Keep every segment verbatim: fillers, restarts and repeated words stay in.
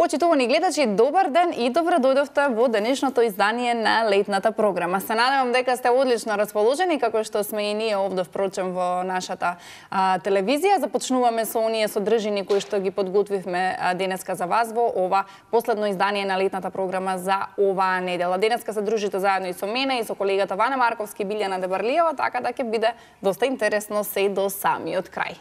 Почитувани гледачи, добар ден и добро дојдовте во денешното издание на летната програма. Се надевам дека сте одлично расположени, како што сме и ние овде впрочем во нашата а, телевизија. Започнуваме со оние содржини кои што ги подготвивме а, денеска за вас во ова последно издание на летната програма за оваа недела. Денеска се дружите заедно и со мене и со колегата Вана Марковски и Билјана Дебарлиева, така да ќе биде доста интересно се до самиот крај.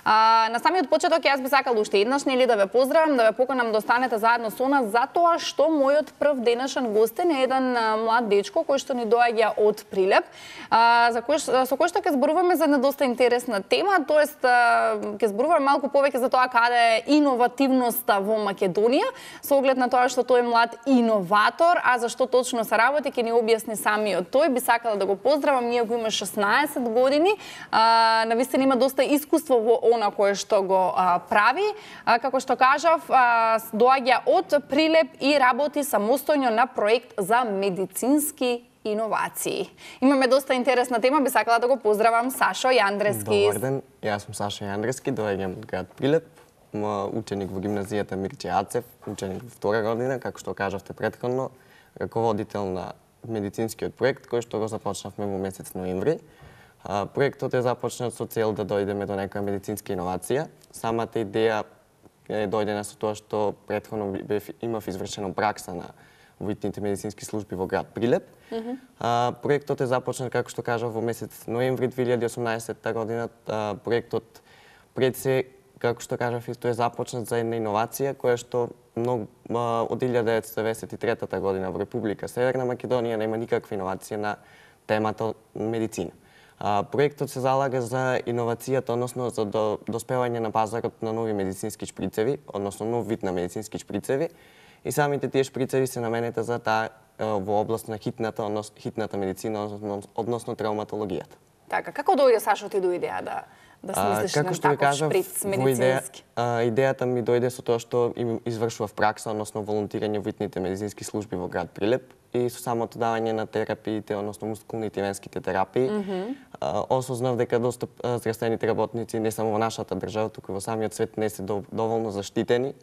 А, на самиот почеток јас би сакал уште еднаш нели да ве поздравам, да ве поканам да останете заедно со нас, затоа што мојот прв денешен гостин е еден а, млад дечко кој што ни доаѓа од Прилеп, а, за кој, со кој што ќе зборуваме за една доста интересна тема, тоест а, ќе зборуваме малку повеќе за тоа каде е иновативноста во Македонија, со оглед на тоа што тој е млад иноватор, а зашто точно се работи ќе ни објасни самиот тој. Би сакала да го поздравам, ние го има шеснаесет години, а, навистина има доста искуство во она кое што го а, прави, а, како што кажав, а, доаѓа од Прилеп и работи самостојно на проект за медицински иновации. Имаме доста интересна тема, би сакала да го поздравам Сашо Јандрески. Добар ден, јас сум Сашо Јандрески, доаѓам од град Прилеп, ученик во гимназијата Мирче Ацев, ученик во втора година, како што кажавте претходно, раководител на медицинскиот проект кој што го започнавме во месец ноември. Проектот е започнат со цел да дојдеме до некоја медицинска иновација. Самата идеја е дојдена со тоа што претходно бев, имав извршено пракса на витните медицински служби во град Прилеп. Mm -hmm. а, проектот е започнат, како што кажав, во месец ноември две илјади и осумнаесетта година. А, проектот пред се, како што кажав, исто е започнат за една иновација која што многу а, од илјада деветстотини деведесет и трета година во Република Северна Македонија нема никаква иновација на темата медицина. А, проектот се залага за иновацијата, односно за до, доспевање на пазарот на нови медицински шприцеви, односно нов вид на медицински шприцеви, и самите тие шприцеви се наменети за таа во област на хитната, односно хитната медицина, односно, односно травматологијата. Така, како дојде Сашо ти до идеја да да смислиш на таков шприц медицински? Идеја, а, идејата ми дојде со тоа што им извршував пракса, односно волонтирање во витните медицински служби во град Прилеп и со самото давање на терапиите, односно мускулните и венските терапии, mm -hmm. а, осознав дека доста здравствените работници не само во нашата држава, туку и во самиот свет не се доволно заштитени.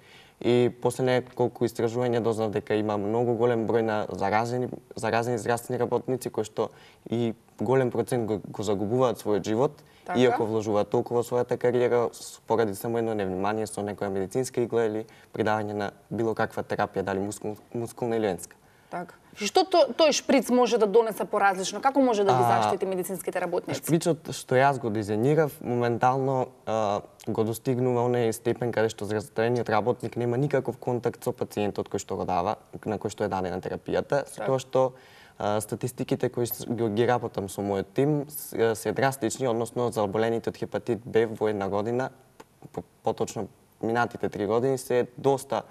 И после неколку истражувања дознав дека има многу голем број на заразени, заразени здравствени работници кои што и голем процент го, го загубуваат својот живот, така? Иако вложуваат толку во својата кариера поради само едно невнимание со некоја медицинска игла или придавање на било каква терапија, дали мускул, мускулна или венска. Така. Што то, тој шприц може да донесе поразлично? Како може да ги заштити медицинските работници? Шприцот што јас го дизајнирав, моментално а, го достигнува оној степен каде што здравствениот работник нема никаков контакт со пациентот кој што го дава, на кој што е дадена терапијата, со тоа што а, статистиките кои ги работам со мојот тим се драстични, односно за оболените од хепатит Б во една година, поточно минатите три години се доста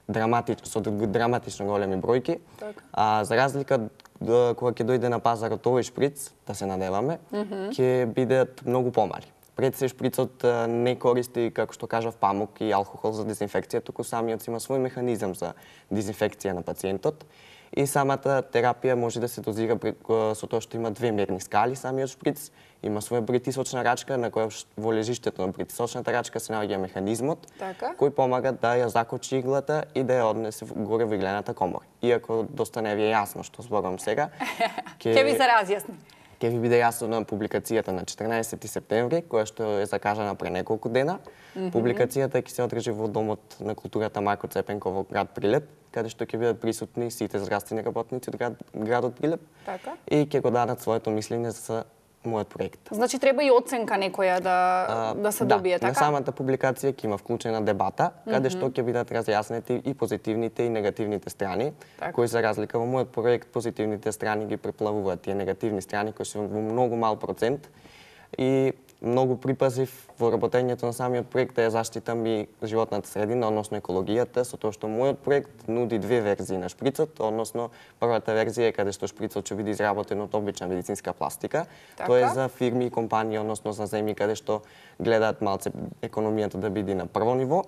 драматично, со драматично големи бројки. Так. А за разлика кога ќе дојде на пазарот овој шприц, да се надеваме, mm -hmm. ќе бидат многу помали. Пред се шприцот не користи, како што кажав, памук и алкохол за дезинфекција, туку самиот си има свој механизам за дезинфекција на пациентот. И самата терапија може да се дозира со тоа што има две мерни скали самиот шприц, има своја притисочна рачка на која во лежиштето на притисочната рачка се наоѓа механизмот така? Кој помага да ја закочи иглата и да ја однесе горе во иглената комора. Иако доста не ви е јасно што зборувам сега, ќе ви се разјасни. Ќе ви биде јасно на публикацијата на четрнаесети септември, која што е закажана пред неколку дена. Mm -hmm. Публикацијата ќе се одржи во Домот на културата Марко Цепенко во град Прилеп, каде што ќе бидат присутни сите здравствени работници од град, градот Прилеп така? И ќе го дадат своето мислење за мојот проект. Значи треба и оценка некоја да а, да се да, добие, така? На самата публикација ќе има вклучена дебата, каде mm -hmm. што ќе бидат разјаснети и позитивните и негативните страни, така? Кои за разлика во мојот проект позитивните страни ги преплавуваат тие негативни страни кои се во многу мал процент и многу припазив во работењето на самиот проект да ја заштитам и животната средина, односно екологијата, со тоа што мојот проект нуди две верзии на шприцот, односно првата верзија е каде што шприцот ќе биде изработен од обична медицинска пластика. Така? Тоа е за фирми и компании, односно за земји каде што гледаат малце економијата да биде на прво ниво.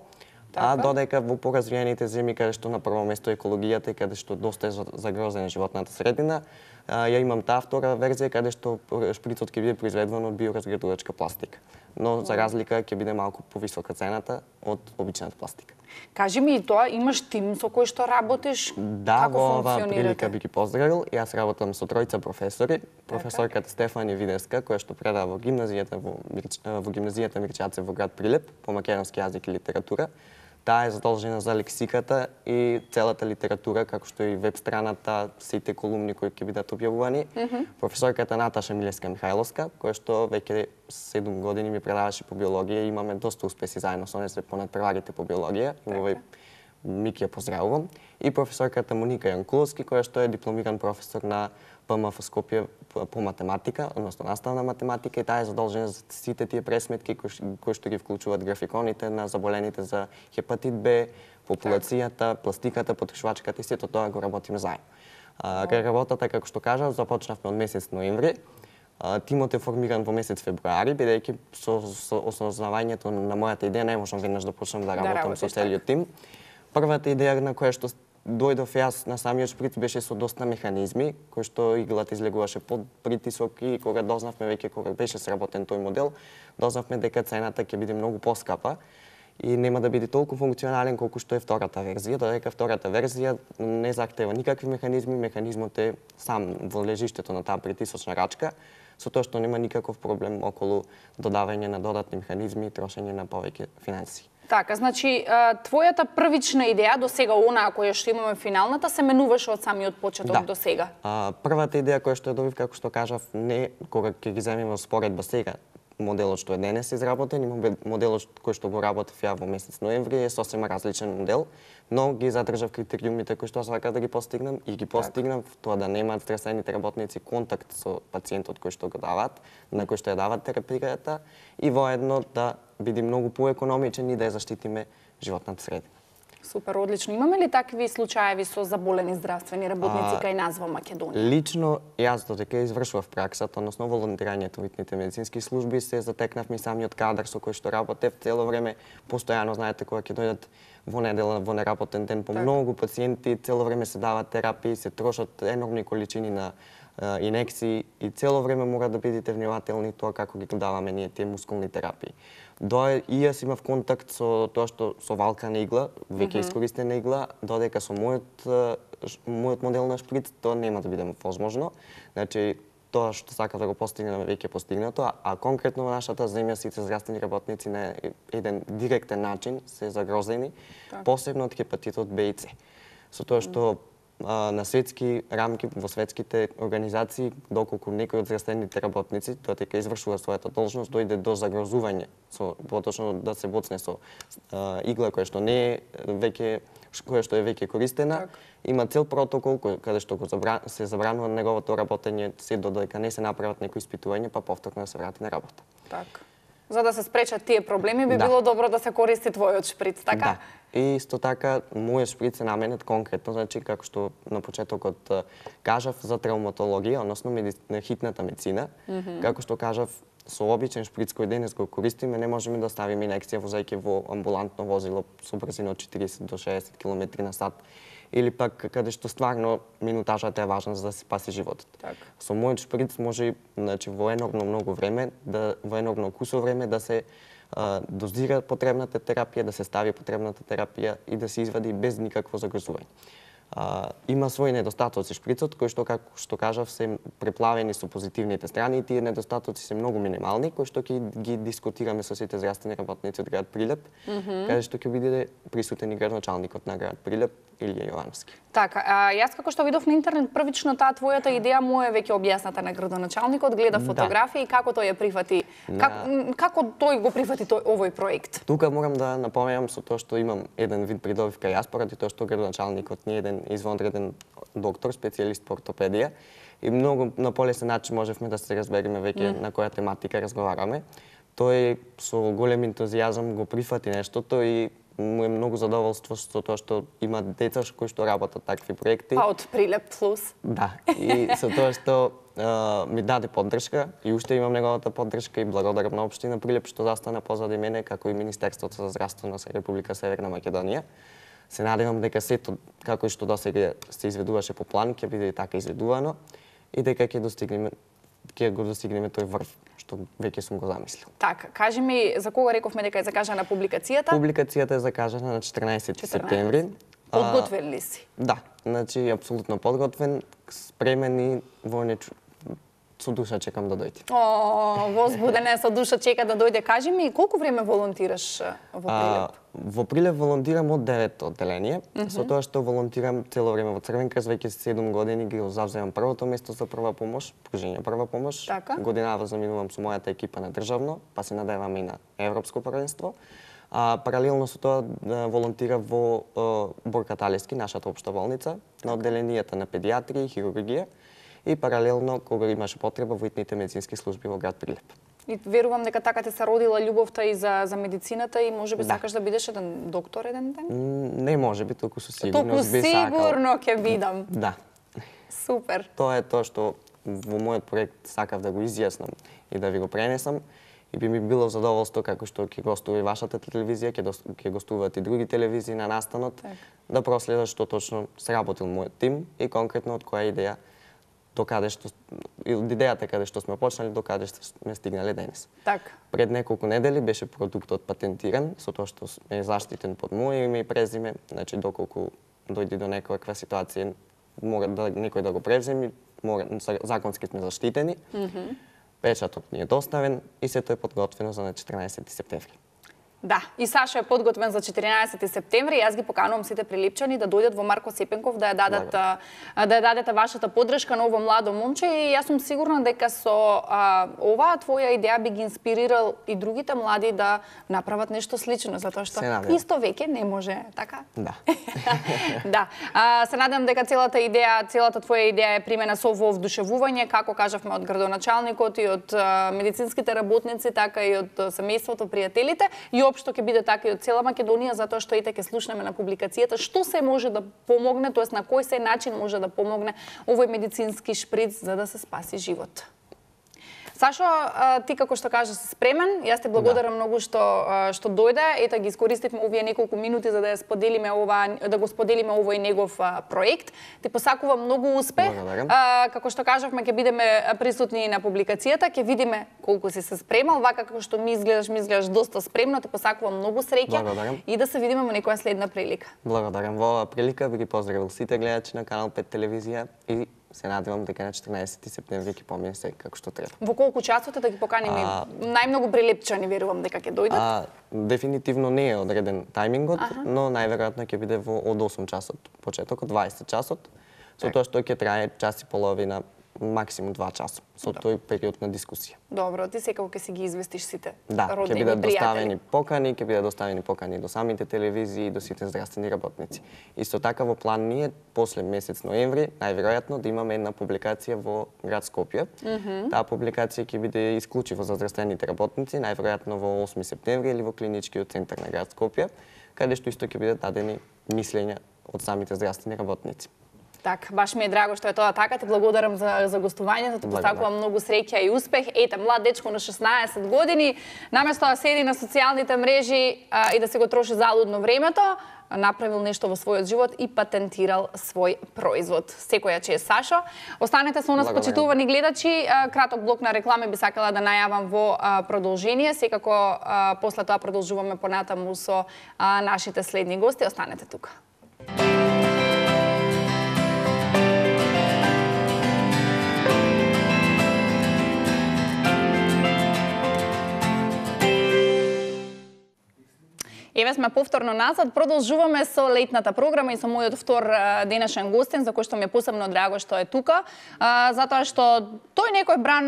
Така? А додека во поразвиените земји каде што на прво место екологијата и каде што доста е загрозена животната средина, ја имам таа втора верзија каде што шприцот ќе биде произведен од биоразградувачка пластика. Но за разлика ќе биде малку повисока цената од обичната пластика. Кажи ми и тоа, имаш тим со кој што работиш? Да, Како во оваа функционирате? прилика би ги поздравил. Јас работам со тројца професори. Професорката Стефанија Видеска, која што предава во гимназијата во, Мирч... во гимназијата Мирчјацев во град Прилеп по македонски јазик и литература. Таа е задолжена за лексиката и целата литература, како што и веб страната, сите колумни кои ќе бидат објавувани. Mm -hmm. Професорката Наташа Милеска Михајловска, која што веќе седум години ми предаваше по биологија и имаме доста успеси заедно со неа, се понадпреварите по биологија. И овој Мики ја поздравувам. И професорката Моника Јанкуловски, која што е дипломиран професор на ПМФ Скопје по математика, односно наставна математика, и таа е задолжена за сите тие пресметки кои, кои што ги вклучуваат графиконите на заболените за хепатит Б, популацијата, пластиката, потрошувачката и сето тоа го работиме заедно. А, кај работата, како што кажав, започнавме од месец ноември. А, тимот е формиран во месец февруари, бидејќи со, со осознавањето на мојата идеја не можам веднаш да почнам да работам да со целиот тим. Првата идеја на која што дојдов јас на самиот шприц беше со доста механизми, кои што иглата излегуваше под притисок и кога дознавме веќе кога беше сработен тој модел, дознавме дека цената ќе биде многу поскапа и нема да биде толку функционален колку што е втората верзија, додека втората верзија не захтева никакви механизми, механизмот е сам во лежиштето на таа притисочна рачка, со тоа што нема никаков проблем околу додавање на додатни механизми и трошење на повеќе финансии. Така, значи, твојата првична идеја до сега, онаа која што имаме финалната, се менуваше од самиот почеток да. до сега? А, првата идеја која што ја добив, како што кажав, не кога ќе ги земеме во споредба сега, моделот што е денес изработен и моделот кој што го работев ја во месец ноември е сосема различен модел, но ги задржав критериумите кои што сакав да ги постигнам и ги постигнав, тоа да немаат здравствените работници контакт со пациентот кој што го даваат, на кој што ја даваат терапијата и воедно да биде многу поекономичен и да ја заштитиме животната средина. Супер, одлично. Имаме ли такви случаеви со заболени здравствени работници кај нас во Македонија? Лично, јас додека извршував праксата, односно волонтирањето во итните медицински служби, се затекнав ми самиот кадар со кој што работев цело време, постојано, знаете, кога ќе дојдат во недела, во неработен ден по так. Многу пациенти, цело време се дават терапии, се трошат енормни количини на uh, инекции и цело време мора да бидете внимателни тоа како ги даваме ние тие мускулни терапии. Дое и јас имав контакт со тоа што со валкана игла, веќе mm -hmm. искористена игла, додека со мојот мојот модел на шприц тоа нема да биде возможно. Значи тоа што сакав да го постигнеме веќе постигнато, а, а конкретно во нашата земја сите здравствени работници на еден директен начин се загрозени, так. Посебно од хепатитот Б и С. Со тоа што а, на светски рамки, во светските организации, доколку некој од здравствените работници, додека извршува својата должност, дојде до загрозување, со поточно да се боцне со а, игла која што не е веќе која што е веќе користена, так. Има цел протокол кој, каде што го забран, се забранува неговото работење се додека не се направат некои испитувања, па повторно да се врати на работа. Так. За да се спречат тие проблеми, би да. било добро да се користи твојот шприц, така? Да. И исто така, мојот шприц е наменет конкретно, значи, како што на почетокот кажав за травматологија, односно медици... хитната медицина, mm -hmm. како што кажав, со обичен шприц кој денес го користиме, не можеме да ставиме инекција возејќи во амбулантно возило со брзина од четириесет до шеесет километри на сат, или пак каде што стварно минутажата е важна за да се спаси животот. Так. Со мојот шприц може, значи, во енормно многу време, да во енормно кусо време да се а, дозира потребната терапија, да се стави потребната терапија и да се извади без никакво загрозување. А, има своји недостатоци шприцот, кои што, како што кажав, се преплавени со позитивните страни и тие недостатоци се многу минимални, кои што ќе ги дискутираме со сите здравствени работници од град Прилеп, mm -hmm. каде што ќе биде присутен и градоначалникот на град Прилеп, Илија Јовановски. Така, а, јас како што видов на интернет, првично таа твојата идеја му е веќе објасната на градоначалникот, гледа фотографии, да. Како тој ја прифати, на... как, како тој го прифати тој овој проект? Тука морам да напомнам со тоа што имам еден вид придобивка јас, поради тоа што градоначалникот не е еден извонреден доктор, специјалист по ортопедија и многу на полесен начин можевме да се разбереме веќе mm. на која тематика разговараме. Тој со голем ентузијазам го прифати нештото и му е многу задоволство со тоа што има деца кои што работат такви проекти. Па од Прилеп плюс. Да, и со тоа што а, ми даде поддршка и уште имам неговата поддршка и благодарам на општина Прилеп што застана позади мене, како и Министерството за здравство на Република Северна Македонија. Се надевам дека сето како и што досега се изведуваше по план ќе биде и така изведувано и дека ќе достигнеме ќе го достигнеме тој врв што веќе сум го замислил. Така, кажи ми за кога рековме дека е закажана публикацијата? Публикацијата е закажана на четрнаесети септември. Подготвен ли си? Да, значи апсолутно подготвен, спремен и во нечу... со душа чекам да дојде. О, возбуден е, со душа чека да дојде. Кажи ми, колку време волонтираш во Прилеп? А, во Прилеп волонтирам од девето одделение, mm -hmm. со тоа што волонтирам цело време во Црвен крст, веќе седум години ги завземам првото место за прва помош, пружење прва помош. Така. Годинава заминувам со мојата екипа на државно, па се надевам и на европско првенство. А паралелно со тоа да волонтира во Борка Талевски, нашата општа болница, на одделенијата на педиатрија и хирургија, и паралелно кога имаше потреба во итните медицински служби во град Прилеп. И верувам дека така те се родила љубовта и за за медицината и можеби да. Сакаш да бидеш еден доктор еден ден? Не можеби, толку со сигурност би сакал. Толку сигурно ќе бидам. Да. Супер. Тоа е тоа што во мојот проект сакав да го изјаснам и да ви го пренесам. И би ми било задоволство како што ќе гостува и вашата телевизија, ќе ќе гостуваат и други телевизии на настанот, так. Да проследат што точно сработил мојот тим и конкретно од која идеја до каде што од идејата каде што сме почнали до каде што сме стигнале денес. Така. Пред неколку недели беше продуктот патентиран со тоа што е заштитен под моје име и презиме, значи доколку дојде до некоја ситуација мора да некој да го преземи, мора законски сме заштитени. Mm -hmm. Печатот ни е доставен и сето е подготвено за на четрнаесети септември. Да, и Сашо е подготвен за четиринаесети септември. Јас ги поканувам сите прилипчани да дојдат во Марко Сепенков да ја дадат да ја дадете вашата поддршка на ово младо момче и јас сум сигурна дека со а, оваа твоја идеја би ги инспирирал и другите млади да направат нешто слично, затоа што исто веќе не може, така? Да. Да. А, се надевам дека целата идеја, целата твоја идеја е примена со ово вдушевување, како кажавме од градоначалникот и од а, медицинските работници, така и од семејството, пријателите и општо ќе биде така и од цела Македонија, затоа што ете ќе слушнеме на публикацијата што се може да помогне, тоест на кој се начин може да помогне овој медицински шприц за да се спаси живот. Сашо, ти како што кажа си спремен, јас те благодарам да. многу што што дојде, ета ги искористивме овие неколку минути за да ја споделиме ова да го споделиме овој негов а, проект. Ти посакувам многу успех. А, како што кажавме ќе бидеме присутни на публикацијата, ќе видиме колку си се спремал, вака како што ми изгледаш, ми изгледаш доста спремно, ти посакувам многу среќа и да се видиме во некоја следна прилика. Благодарам. Во оваа прилика би ги поздравил сите гледачи на Канал пет телевизија и се надевам дека на четрнаесети септември ќе помине се како што треба. Во колку часот е да ги поканиме а... најмногу прилепчани, верувам дека ќе дојдат? А, дефинитивно не е одреден тајмингот, ага. но најверојатно ќе биде во од осум часот почетокот, дваесет часот, со тоа што ќе трае час и половина, максимум два часа, со да. тој период на дискусија. Добро, ти секако ќе си ги известиш сите да, роднини, ќе бидат доставени покани, ќе бидат доставени покани до самите телевизии и до сите здравствени работници. Исто така во план ни е после месец ноември, најверојатно да имаме една публикација во град Скопје. Mm -hmm. Таа публикација ќе биде исклучиво за здравствените работници, најверојатно во осми септември или во клиничкиот центар на град Скопје, каде што исто ќе бидат дадени мислења од самите здравствени работници. Так, баш ми е драго што е тоа така. Ти благодарам за, за гостувањето, ти посакувам многу среќа и успех. Ете, млад дечко на шеснаесет години, наместо да седи на социјалните мрежи а, и да се го троши залудно времето, направил нешто во својот живот и патентирал свој производ. Секоја чест, Сашо. Останете со нас, почитувани гледачи. Краток блок на реклами би сакала да најавам во продолжение. Секако после тоа продолжуваме понатаму со нашите следни гости. Останете тука. Еве сме повторно назад, продолжуваме со летната програма и со мојот втор денешен гостин, за кој што ми е посебно драго што е тука, затоа што тој некој бран,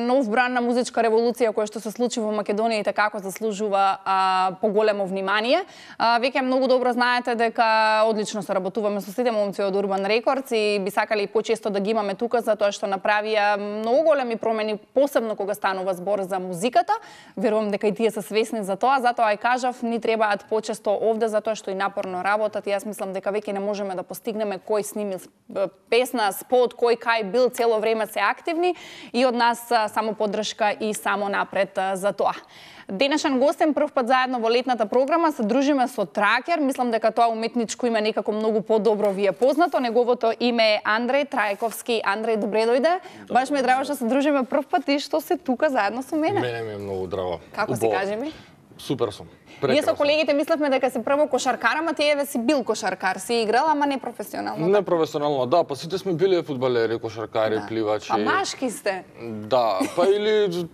нов бран на музичка револуција која што се случи во Македонија и така заслужува а, поголемо внимание. А, веќе многу добро знаете дека одлично соработуваме со сите момци од Urban Records и би сакали почесто да ги имаме тука затоа што направија многу големи промени, посебно кога станува збор за музиката. Верувам дека и тие се свесни за тоа, затоа и кажав, ни требаат доаѓаат почесто овде затоа што и напорно работат и јас мислам дека веќе не можеме да постигнеме кој сними песна, спот, кој кај бил, цело време се активни и од нас само поддршка и само напред за тоа. Денешен гостен прв пат заедно во летната програма се дружиме со Тракер. Мислам дека тоа уметничко име некако многу подобро ви е познато. Неговото име е Андреј Трајковски. Андреј, добре дојде. Добре. Баш ми е драго што се дружиме прв пат и што се тука заедно со мене. Мене ми е многу драго. Како се кажи ми? Супер сум. Прекрасно. Ние со колегите мислевме дека си прво кошаркар, ама ти еве си бил кошаркар, си играл, ама не професионално. Не професионално, да, па сите сме биле фудбалери, кошаркари, да. Пливачи. А машки сте? Да, па или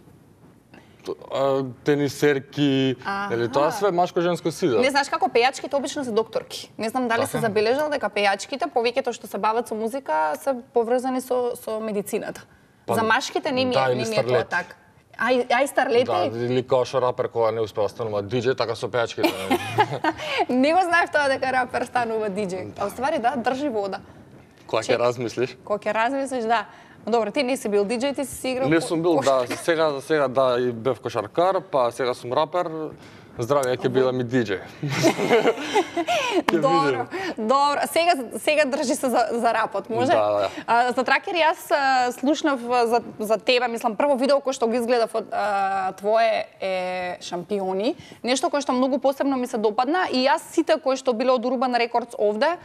тенисерки, или тоа све машко-женско сида. Не знаеш како пејачките обично се докторки. Не знам дали се забележал дека пејачките, повеќето што се бават со музика, се поврзани со со медицината. Па, за машките не ми е, не ми е тоа така. Ај, ај старлети? Да, или како што рапер кога не успеа станува диџеј, така со пејачките. Не го знаев тоа дека рапер станува диџеј. А уствари да, држи вода. Кога ќе размислиш? Кога ќе размислиш, да. Добро, ти не си бил диџеј, ти си играл. Не сум бил, да, сега за сега да и бев кошаркар, па сега сум рапер. Здравје, ќе била ми диџеј. Добро, добро. Сега сега држи се за, за рапот, може? Да, да. А, за Тракер јас а, слушнав за за тебе, мислам прво видео кој што го изгледав од а, твое е Шампиони, нешто кое што многу посебно ми се допадна и јас сите кои што биле од Urban Records овде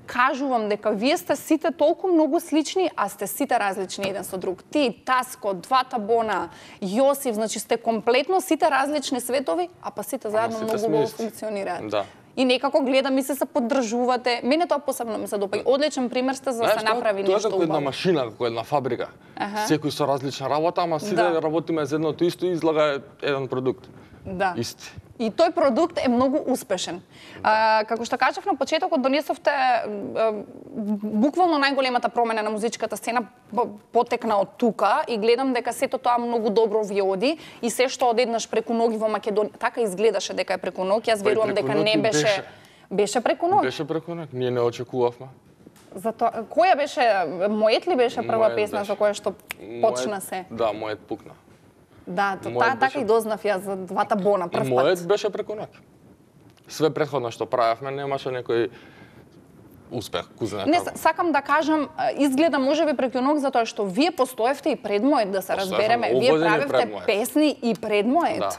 кажувам дека вие сте сите толку многу слични, а сте сите различни еден со друг. Ти, Таско, двата Бона, Јосиф, значи сте комплетно сите различни светови, а па сите заедно многу убаво функционираат. Да. И некако гледам и се се поддржувате. Мене тоа посебно ми се допаѓа. Одличен пример сте за да се направи нешто убаво. Тоа е како една машина, како една фабрика. Ага. Секој со различна работа, ама сите да. Работиме за едното исто и излага еден продукт. Да. Исти. И тој продукт е многу успешен. А, како што кажав на почетокот, донесовте а, буквално најголемата промена на музичката сцена потекна од тука и гледам дека сето тоа многу добро ви оди и се што одеднаш преку ноги во Македонија, така изгледаше дека е преку ноги. Јас верувам дека не беше беше, беше преку ноги. Беше преку ноги. Ние не очекувавме. Затоа која беше мојот ли беше прва мојет песна беше. За која што почна се? Да, мојот пукна. Да, таа така и дознав јас за двата Бона прв пат. Мојот беше преку ноќ. Све претходно што правевме немаше некој успех, кузна. Не, сакам да кажам, изгледа можеби преку ноќ затоа што вие постоевте и пред мојот, да се разбереме. Вие правевте песни и пред мојот. Да.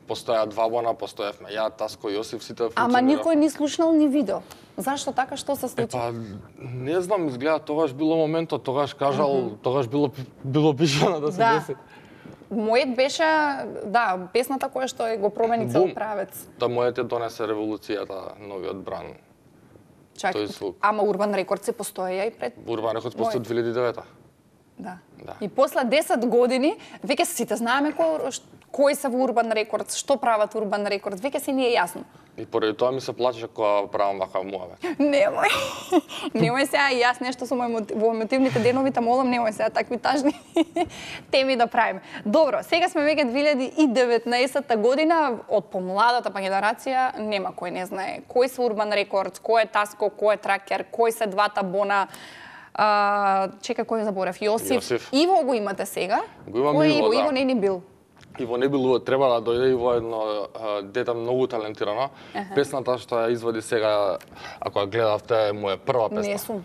Постоја два Бона, постоевме ја, Таско, Јосиф, сите функционираа. Ама никој не слушнал ни видео. Зашто така, што се случи? Па, не знам, изгледа тогаш било моментот, тогаш кажал, mm -hmm. тогаш било било пишано да се да. Деси. Мојот беше, да, песната која што го промени цел правец. Да, мојот е донесе револуцијата, новиот бран. Чак, ама Urban Records се постоја и пред... Urban Records постоја две илјади и девета. Да. Да. И после десет години, веќе сите знаеме кој, кои се во Urban Records, што прават Urban Records, веќе се ни е јасно. И поради тоа ми се плачеше кога правам вака муаве. Немој. Немој сега и јас нешто со мој во емотивните денови та молам, немој сега такви тажни теми да правиме. Добро, сега сме веќе две илјади и деветнаесетта година, од помладата па генерација нема кој не знае кој се Urban Records, кој е Таско, кој е Тракер, кој се двата Бона. А, чека, кој заборав? Јосиф. Јосиф. Иво го имате сега? Го имам кој Иво, Иво, да. Иво не ни бил. Иво не бил, треба да дојде Иво едно а, дете многу талентирано. Uh -huh. Песната што ја извади сега, ако ја гледавте, е моја прва песна. Не сум.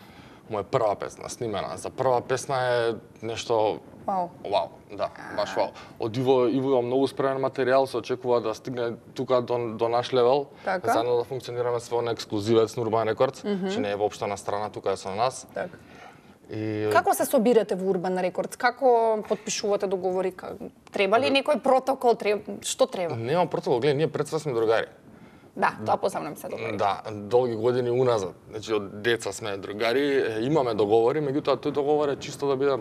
Моја прва песна, снимена. За прва песна е нешто... Вау. Вау, да, баш вау. Од Иво, Иво има многу спремен материјал, се очекува да стигне тука до, до наш левел. Така. Заедно да функционираме све на ексклузивец на Urban Records, mm -hmm. че не е воопшто на страна, тука е со нас. Така. И... Како се собирате во Urban Records? Како потпишувате договори? Треба ли некој протокол? Треба... Што треба? Нема протокол, гледај, ние пред све сме другари. Да, тоа посебно ми се договори. Да, долги години уназад. Значи, од деца сме другари, имаме договори, меѓутоа тој договор е чисто да биде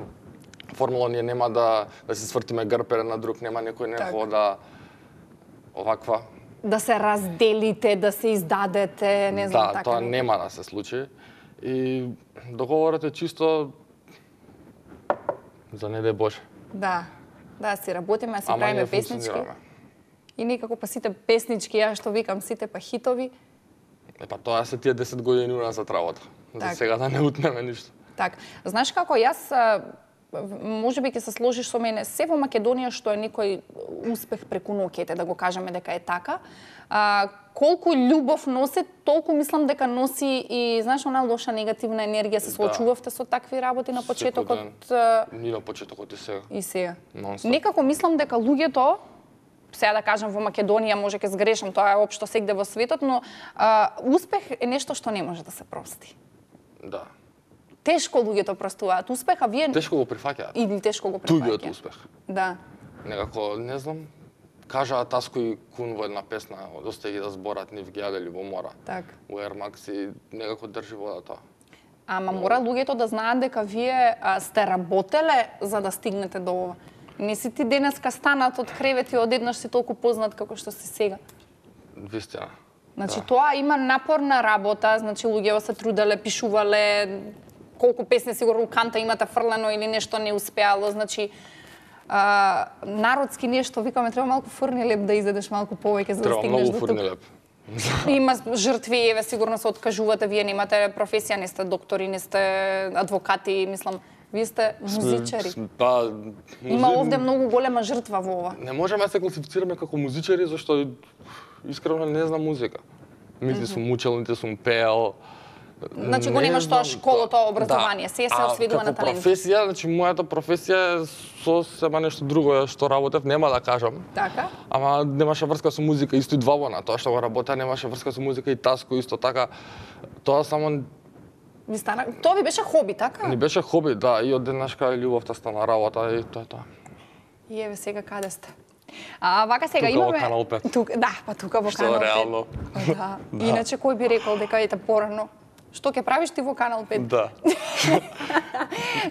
формула, ние нема да да се свртиме грб еден на друг, нема некој нехо да оваква. Да се разделите, да се издадете, не знам да, така. Да, тоа не... нема да се случи. И договорот е чисто за не дај Боже. Да, да, си работиме, си правиме песнички. И некако па сите песнички, ја што викам, сите па хитови. Е, па тоа се тие десет години уназад работа. За так. Сега да не утнеме ништо. Так, знаеш како, јас можеби ќе се сложиш со мене, се во Македонија што е некој успех преку ноќите, да го кажеме дека е така. А, колку љубов носи, толку мислам дека носи и, знаеш, она лоша негативна енергија. Се соочувавте со такви работи на почетокот? Ни на почетокот и сега. И сега. Non-stop. Некако мислам дека луѓето, сега да кажам во Македонија, може ке сгрешам, тоа е општо сегде во светот, но а, успех е нешто што не може да се прости. Да. Тешко луѓето простуваат успех, а вие Тешко го прифаќаат. или тешко го прифаќаат. Туѓиот успех. Да. Некако, не знам, кажаа Таско и Кун во една песна, доста ги да зборат, нив ги јадели во мора. Так. У Air Max и некако држи водата. Ама мора луѓето да знаат дека вие а, сте работеле за да стигнете до ова. Не си ти денеска станат од кревет и одеднаш си толку познат како што си сега. Вистина. Значи Да. тоа има напорна работа, значи луѓето се труделе, пишувале, колку песни сигурно канта имате фрлено или нешто не успеало, значи а, народски нешто, викаме, треба малку фурнилеп да изедеш малку повеќе за да Треба стигнеш многу до тук. фурнилеп. Има жртви, еве сигурно се откажувате, вие немате професија, не сте доктори, не сте адвокати, мислам, вие сте музичари. Па, Има музи- овде многу голема жртва во ова. Не можеме да се класифицираме како музичари, зашто искрено не знам музика. Нити сум учел, нити сум пеел. Значи го Не немаш тоа знам, школото, да. образование, се се осведува на Како талент. професија, значи мојата професија е сосема нешто друго е што работев, нема да кажам. Така? Ама немаше врска со музика, исто и двобона, тоа што го работеа немаше врска со музика и Таско исто така. Тоа само Ви стана, тоа ви беше хоби, така? ни беше хоби, да, и од денешка љубовта стана работа и тоа е тоа. И еве сега каде сте? А вака сега Тука во имаме Канал пет. Тук, да, па тука во Што Канал пет. реално. Да. Иначе кој би рекол дека ете порано? Што ќе правиш ти во Канал пет? Да.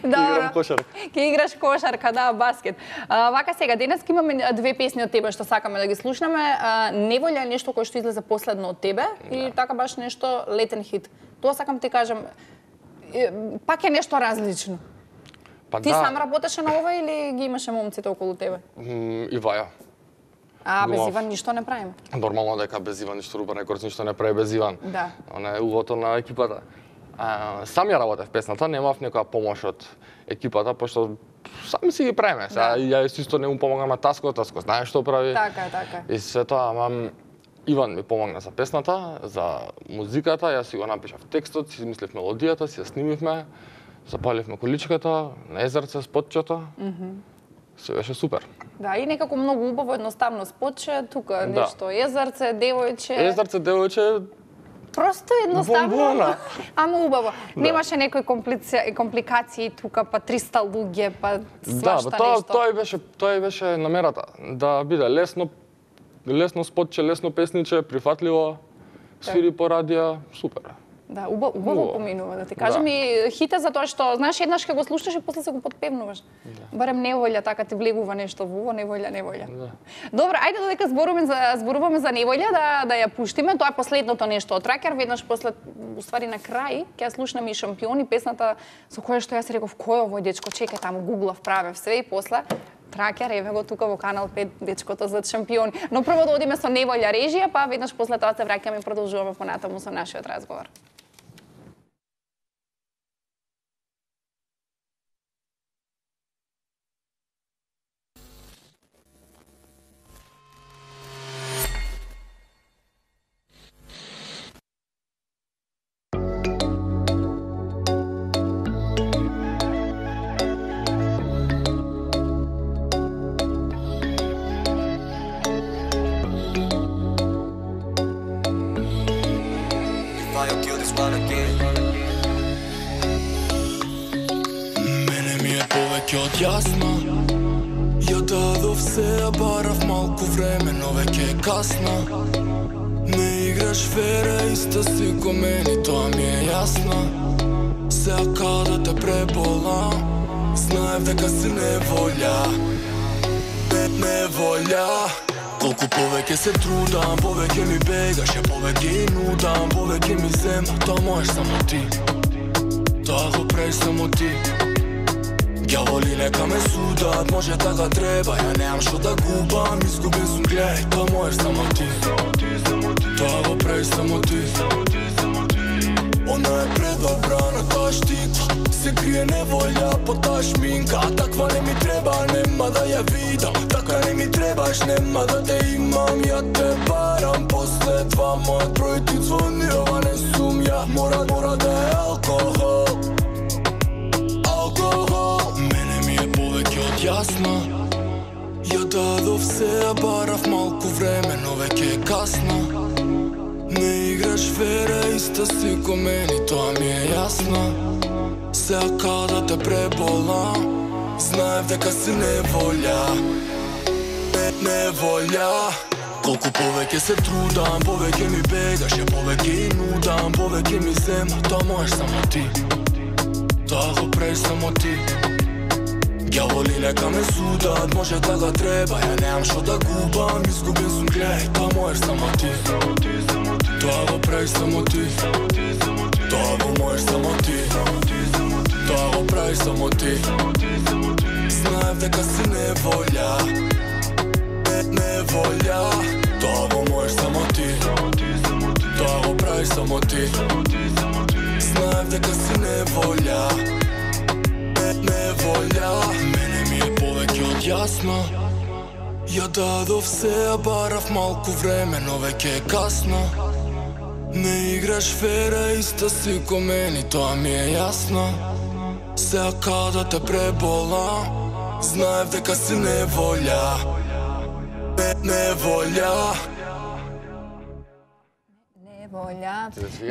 Добро. Играм кошарка. Ќе играш кошарка, да, баскет. А, вака сега, денес имаме две песни од тебе што сакаме да ги слушнаме. А, Неволја е нешто кој што излезе последно од тебе и така баш нешто летен хит. Тоа сакам ти кажам, е, пак е нешто различно. Па Ти да, сам работеше на ова или ги имаше момците околу тебе? м, и Ваја. А, без Глав. Иван ништо не правиме. Нормално дека без Иван ништо Рубен Рекордс ништо не прави без Иван. Да. Она е угото на екипата. А, сам ја работев песната, немав некоја помош од екипата, пошто сами си ги правиме. Сега Да. ја исто не му помагам Таско, Таско знае што прави. Така, така. И се тоа, ама Иван ми помогна за песната, за музиката, јас си го напишав текстот, си измислив мелодијата, си ја снимивме, запаливме количката, на езерце, спотчето. Се беше супер. Да, и некако многу убаво, едноставно споче, тука Да. нешто езерце, девојче. Езерце, девојче, Просто едноставно, Бомбона. ама убаво. Немаше некои комплици... компликации тука, па триста луѓе, па да, свашта бе, тоа нешто. тоа и беше тоа и беше намерата, да биде лесно лесно спотче, лесно песниче, прифатливо, свири по радио, супер. Да, убаво, убаво Убаво. поминува, да ти кажам. Да. И хите за тоа што, знаеш, еднаш ќе го слушаш и после се го подпевнуваш. Да. Барем неволја, така ти влегува нешто во ово, неволја, неволја. Да. Добро, ајде додека зборуваме за зборуваме за неволја, да да ја пуштиме. Тоа е последното нешто од Тракер, веднаш после, уствари на крај, ќе ја слушнеме и Шампиони, песната со која што јас реков, кој е овој дечко, чекај таму гуглав, правев све и после Тракер, еве го тука во Канал пет, дечкото за Шампиони. Но прво да одиме со неволја режија, па веднаш после тоа се враќаме и продолжуваме понатаму со нашиот разговор. Мене ми е повеќе од јасно. Ја дадов се, ја барав малку време, но веќе е касно. Не играш фере, исто си ко мене, тоа ми е јасно. Сега каде те преболам, знаев дека си неволја. Не, неволја. Колку повеќе се трудам, повеќе ми бегаше, повеќе и нудам, повеќе ми зема, тоа можеш само ти. Тоа го прави само ти. Ѓаволи нека ме судат, може така треба, ја немам што да губам, изгубен сум, гледај, тоа можеш само ти. Тоа го прави само ти. Она е предобра на таа штиква, се крие неволја под таа шминка. Таква не ми треба, нема да ја видам. Така не ми требаш, нема да те имам. Ја те барам после два, мојот број ти звони, ова не сум ја. Мора, мора да е алкохол. Алкохол. Мене ми е повеќе од јасно. Ја дадов се, ја барав малку време, но веќе е касно. Не играш фера, иста си ко мене, тоа ми е јасно. Сега када те пребола, знаев дека си неволја. Не, неволја. Колку повеќе се трудам, повеќе ми бегаш, ја повеќе и нудам, повеќе ми зема, тоа можеш само ти. Тоа го прави само ти. Ѓаволи нека ме судат, може кога треба, ја немам шо да губам, изгубен сум, гледај, тоа можеш само ти. Тоа го прави само ти. Тоа го можеш само ти. Тоа го прави само ти. Знаев дека си неволја. Не, неволја. Тоа го можеш само ти. Тоа го прави само ти. Знаев дека си неволја. Не, неволја. Мене ми е повеќе од јасно. Ја дадов се, ја барав малку време, но веќе е касно. Не играш фера, иста си ко мене, тоа ми е јасно. Сега када те пребола, знаев дека си неволја. Не, неволја. Неволја.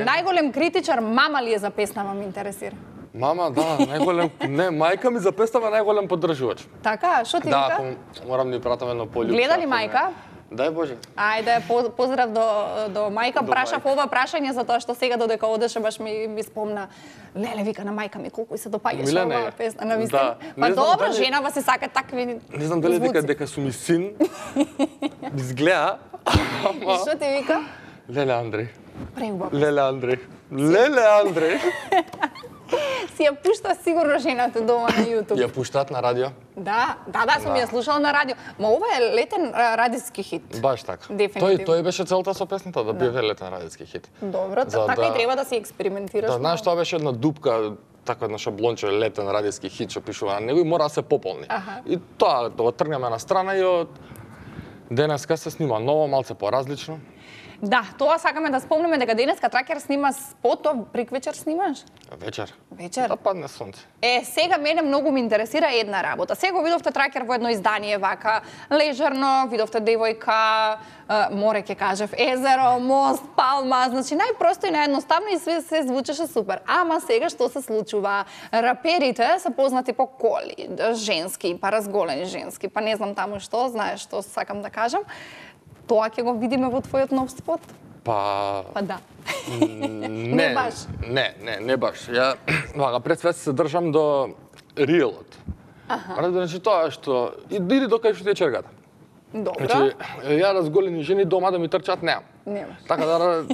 Најголем критичар мама ли е за песнава, ме интересира? Мама, да, најголем, не, мајка ми за песнава најголем поддржувач. Така, шо ти Да, вика? ако морам да ни пратам едно полјуб. Гледа ли мајка? Дај Боже. Ајде, по- поздрав до, до мајка. До Прашав мајка. ова прашање затоа што сега додека одеше баш ми, ми спомна. Леле, вика на мајка ми, колку и се допаѓаше Милена оваа е. песна. На вистина. Да. Па Не знам добро, дали- женава се сака такви Не знам дали дека звуци. дека сум и син. Изгледа. Ама Што ти вика? Леле Андреј. Преубав. Леле Андреј. Леле Андреј. Си ја пушта сигурно жената дома на YouTube. Ја пуштаат на радио. Да, да, да, сум Да. ја слушала на радио. Ма ова е летен а, радиски хит. Баш така. Дефинитивно. Тој тој беше целта со песната да биде летен радиски хит. Добро, За така да- и треба да си експериментираш. Да, знаеш, тоа беше една дупка, така едно шаблонче летен радиски хит што пишува на него и мора да се пополни. Аха. И тоа да го тргнеме на страна и од денеска се снима ново, малце поразлично. Да, тоа сакаме да спомнеме дека денеска Тракер снима спотов, приквечер снимаш? Вечер. Вечер. Да падне сонце. Е, сега мене многу ме интересира една работа. Сега го видовте Тракер во едно издание вака, лежерно, видовте девојка, е, море ќе кажев, езеро, мост, палма, значи најпросто и наједноставно и све се звучеше супер. Ама сега што се случува? Раперите се познати по коли, женски, па разголени женски, па не знам таму што, знаеш што сакам да кажам. Тоа ќе го видиме во твојот нов спот? Па Па да. не, Не баш. Не, не, не баш. Ја вака пред све се држам до реалот. Аха. Значи тоа што иди до кај што ти е чергата. Добро. Значи, ја разголени жени дома да ми трчат немам. Немаш. Така да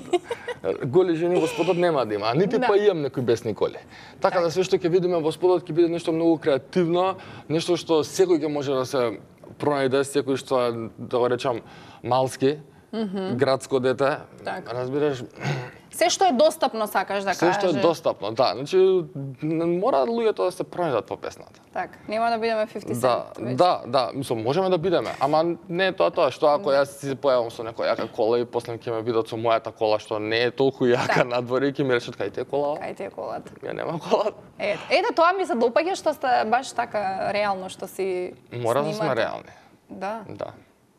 голи жени во спотот нема да има, а нити Да. па имам некои бесни коли. Така да све што ќе видиме во спотот ќе биде нешто многу креативно, нешто што секој ќе може да се пронајде, секој што е, да го речам, малски, градско дете. Така. Разбираш, Се што е достапно сакаш да се кажеш. што е достапно, да. Значи, не мора луѓето да се пронајдат по песната. Така, нема да бидеме петдесет Да, веќе. да, да, мислам, можеме да бидеме, ама не е тоа тоа, што ако јас си се појавам со некоја јака кола и после ќе ме видат со мојата кола што не е толку јака Да. надвор и ќе ми речат кај ти е кола? Кај ти е колата? Ја нема кола. Ете, ете, тоа ми се допаѓа што сте баш така реално што си Мора да снимате. сме реални. Да. Да.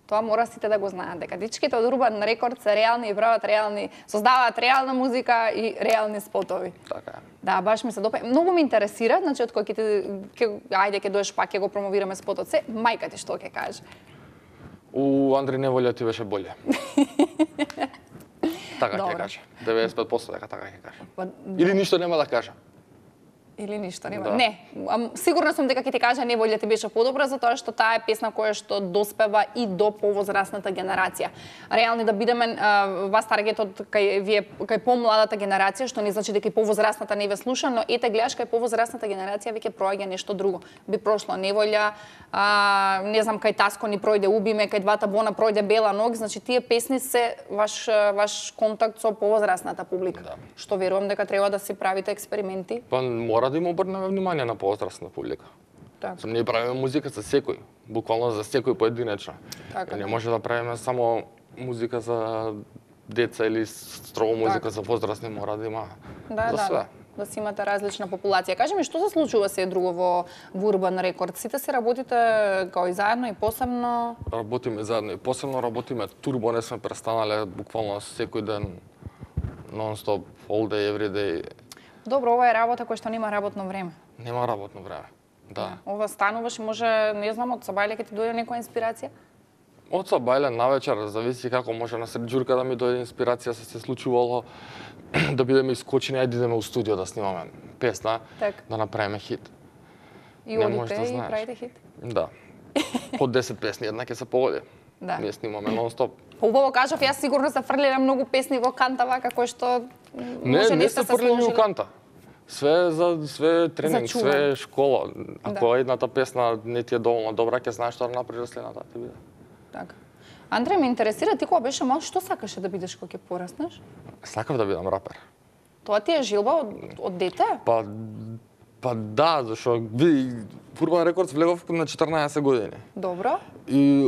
Тоа мора сите да го знаат, дека дичките од Урбан Рекорд се реални и прават реални, создаваат реална музика и реални спотови. Така е. Да, баш ми се допаѓа. Многу ме интересира, значи од кој ќе ти- ќе ајде ќе доеш пак ќе го промовираме спотот се, мајка ти што ќе каже? У Андри Неволја ти беше боле. Така ќе Добро. каже. деветдесет и пет проценти дека така ќе каже. Па, Или ништо нема да каже. Или ништо нема. Да. Не, ам, сигурна сум дека ќе ти кажа Неволја ти беше подобра затоа што таа е песна која што доспева и до повозрасната генерација. Реални да бидеме а, вас таргетот кај вие кај помладата генерација, што не значи дека и повозрасната не ве слуша, но ете гледаш кај повозрасната генерација веќе проаѓа нешто друго. Би прошло Неволја, а, не знам кај Таско ни пројде Убиме, кај Двата Бона пројде Бела ног, значи тие песни се ваш ваш контакт со повозрасната публика. Да. Што верувам дека треба да си правите експерименти. Па мора мора да им обрнеме внимание на повозрастна публика. Така. Ние правиме музика за секој, буквално за секој поединечно. Така. Не може да правиме само музика за деца или строго музика така. за возрастни, мора да има Да, за да, све. да си имате различна популација. Кажи ми, што се случува се друго во, во Урбан Рекорд? Сите се работите као и заедно и посебно? Работиме заедно и посебно работиме турбо, не сме престанале буквално секој ден, нон-стоп, all day, every day. Добро, ова е работа која што нема работно време. Нема работно време. Да. Ова стануваш и може, не знам, од Сабајле ќе ти дојде некоја инспирација? Од Сабајле навечер, зависи како може на сред џурка да ми дојде инспирација, се се случувало да бидеме искочени, ајде идеме у студио да снимаме песна, Так. да направиме хит. И Не можеш одите да и знаеш. правите хит? Да. По десет песни една ќе се погоди. Да. Ние снимаме нон-стоп. Убаво кажав, јас сигурно се фрлиле многу песни во канта вака кои што Не, може не сте се фрлени у сложиле. канта. Све за све тренинг, За чуван. све школа. Ако Да. едната песна не ти е доволно добра, ќе знаеш што да направиш следната ти биде. Така. Андре, ме интересира, ти кога беше мал, што сакаше да бидеш кога ќе пораснеш? Сакав да бидам рапер. Тоа ти е жилба од, од дете? Па па да, зашо види Урбан Рекордс влегов на четрнаесет години. Добро. И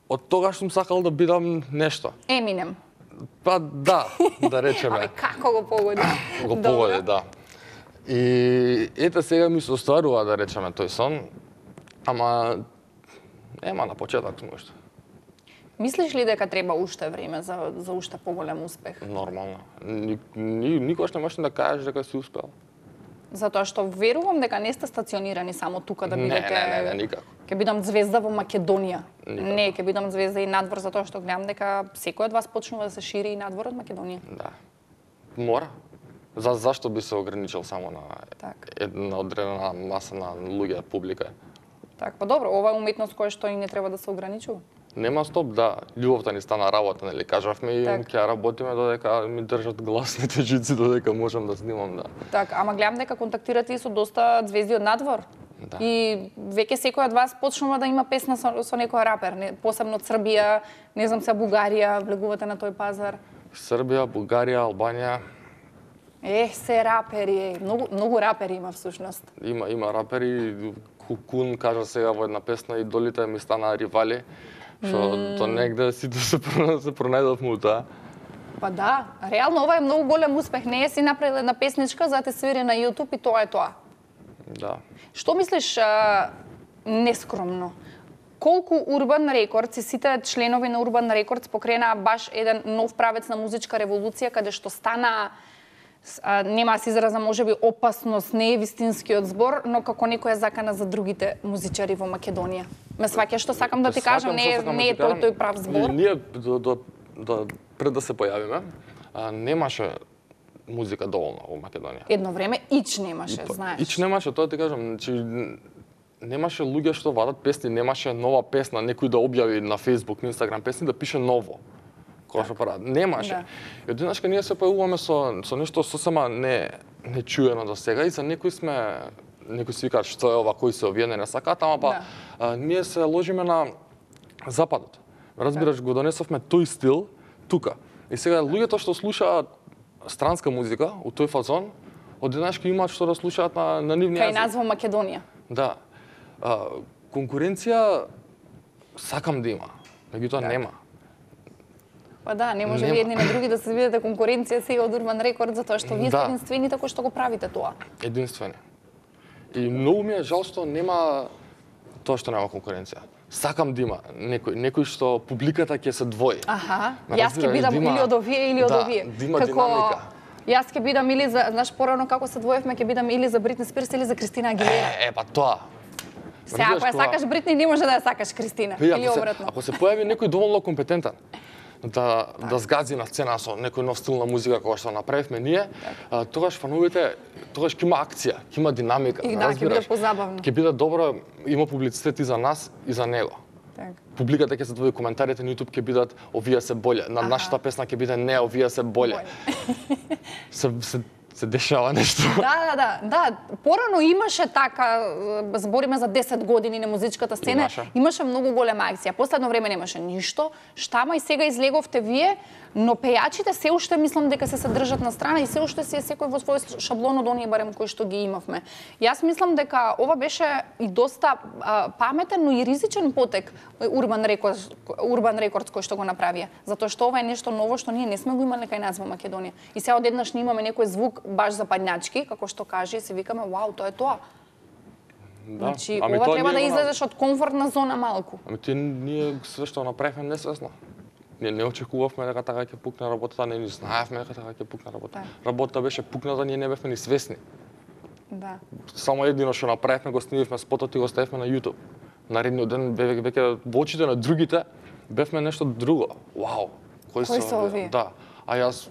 од тогаш сум сакал да бидам нешто. Еминем. Па да, да речеме. Абе, како го погоди? Го Добро. погоди, да. И ете сега ми се остварува да речеме тој сон, ама нема на почеток нешто. Мислиш ли дека треба уште време за, за уште поголем успех? Нормално. Ни, ни, никош не можеш да кажеш дека си успел. Затоа што верувам дека не сте стационирани само тука да Не, бидете... не, не, не, никако. Ќе бидам звезда во Македонија. Никако. Не, ќе бидам звезда и надвор, затоа што гледам дека секој од вас почнува да се шири и надвор од Македонија. Да. Мора. За, зашто би се ограничил само на Така. една одредена маса на луѓе, публика? Така, па добро, ова е уметност која што и не треба да се ограничува. Нема стоп, да. Љубовта ни стана работа, нели? Кажавме и Так. ќе работиме додека ми држат гласните жици, додека можам да снимам, да. Така, ама гледам дека контактирате и со доста звезди од надвор. Да. И веќе секој од вас почнува да има песна со, со некој рапер, не, посебно од Србија, не знам се Бугарија, влегувате на тој пазар. Србија, Бугарија, Албанија, Е, се рапери, е. Многу, многу рапери има всушност. има има рапери, Кукун кажа сега во една песна и долите ми стана ривали, што mm. до негде сите се про- се пронајдовме у тоа. Па да, реално ова е многу голем успех. Не е си направил една песничка, за да те свири на YouTube и тоа е тоа. Да. Што мислиш а, нескромно? Колку Урбан Рекордс и сите членови на Урбан Рекордс покренаа баш еден нов правец на музичка револуција, каде што стана, а, нема да се изразам, можеби опасност, не е вистинскиот збор, но како некоја закана за другите музичари во Македонија. Ме сваќаш што сакам да ти кажам, не е, не е тој тој прав збор. Ние до, до, до, пред да се појавиме, а, немаше музика доволно во Македонија. Едно време ич немаше, знаеш. Ич немаше, тоа ти кажам, значи немаше луѓе што вадат песни, немаше нова песна, некој да објави на Facebook, на Instagram песни да пише ново. Кога што прават, немаше. Да. И одеднашка ние се појавуваме со со нешто сосема не не чуено до сега и за некои сме некои си викаат што е ова, кои се овие, не не сакаат, ама па Да. а, ние се ложиме на западот. Разбираш, го донесовме тој стил тука. И сега луѓето што слушаат странска музика, у тој фазон, одеднашка имаат што да слушаат на на нивни Кај јазик. нас во Македонија. Да. А, конкуренција сакам да има, меѓутоа нема. Па да, не може Нема. ви едни на други да се видите конкуренција сега од Урбан Рекорд, затоа што вие сте Да. единствените кои што го правите тоа. Единствени. И многу ми е жал што нема тоа што нема конкуренција. Сакам да има некој, некој што публиката ќе се двои. Аха, Ме јас ќе разбираш, бидам да има- или од овие или од да, овие. да има динамика. Јас ќе бидам или за, знаеш, порано како се двоевме, ќе бидам или за Бритни Спирс или за Кристина Агилера. Е, е, па тоа. Се, ако ја разбираш, кога- сакаш Бритни, не може да ја сакаш Кристина. Види, Или ако се, обратно. ако се појави некој доволно компетентен да да згази на сцена со некој нов стил на музика која што направивме ние, а, тогаш фановите, тогаш ќе има акција, ќе има динамика, И да, ќе биде позабавно. Ќе биде добро, има публицитет и за нас и за него. Така. Публиката ќе се двои, коментарите на YouTube ќе бидат овие се боле, на Аха. нашата песна ќе биде не, овие се боле. се, се се дешава нешто. Да, да, да, да. Порано имаше така, збориме за десет години на музичката сцена, Имаше. имаше многу голема акција. Последно време немаше ништо. Штама и сега излеговте вие, но пејачите се уште мислам дека се се држат на страна и се уште си е секој во свој шаблон од оние барем кои што ги имавме. Јас мислам дека ова беше и доста а, паметен, но и ризичен потек Урбан Рекордс, Урбан Рекордс кој што го направија. Затоа што ова е нешто ново што ние не сме го имале кај нас во Македонија. И сега одеднаш не имаме некој звук баш западњачки, како што каже, и се викаме, вау, тоа е тоа. Да. Значи, Ами ова тоа треба да ние го на- излезеш од комфортна зона малку. Ами ти ние све што направивме несвесно. Ние не очекувавме дека така ќе пукне работата, не ни знаевме дека така ќе пукне работата. Да. Работата беше пукната, ние не бевме ни свесни. Да. Само едино што направивме, го снимивме спотот и го ставивме на YouTube. Наредниот ден веќе веќе во очите на другите бевме нешто друго. Вау, кои Кои се овие? Да. А јас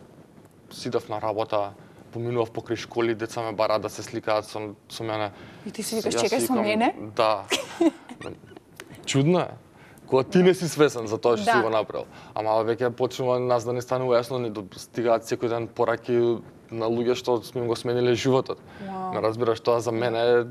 сидев на работа, поминував покрај школи, деца ме бараат да се сликаат со, со мене. И ти си викаш, Јас чекај со викам, мене? Да. Чудно е. Кога ти не си свесен за тоа што Да. си го направил. Ама веќе почнува нас да не станува јасно, ни достигаат секој ден пораки на луѓе што сме им го смениле животот. Вау. Ме разбираш, тоа за мене е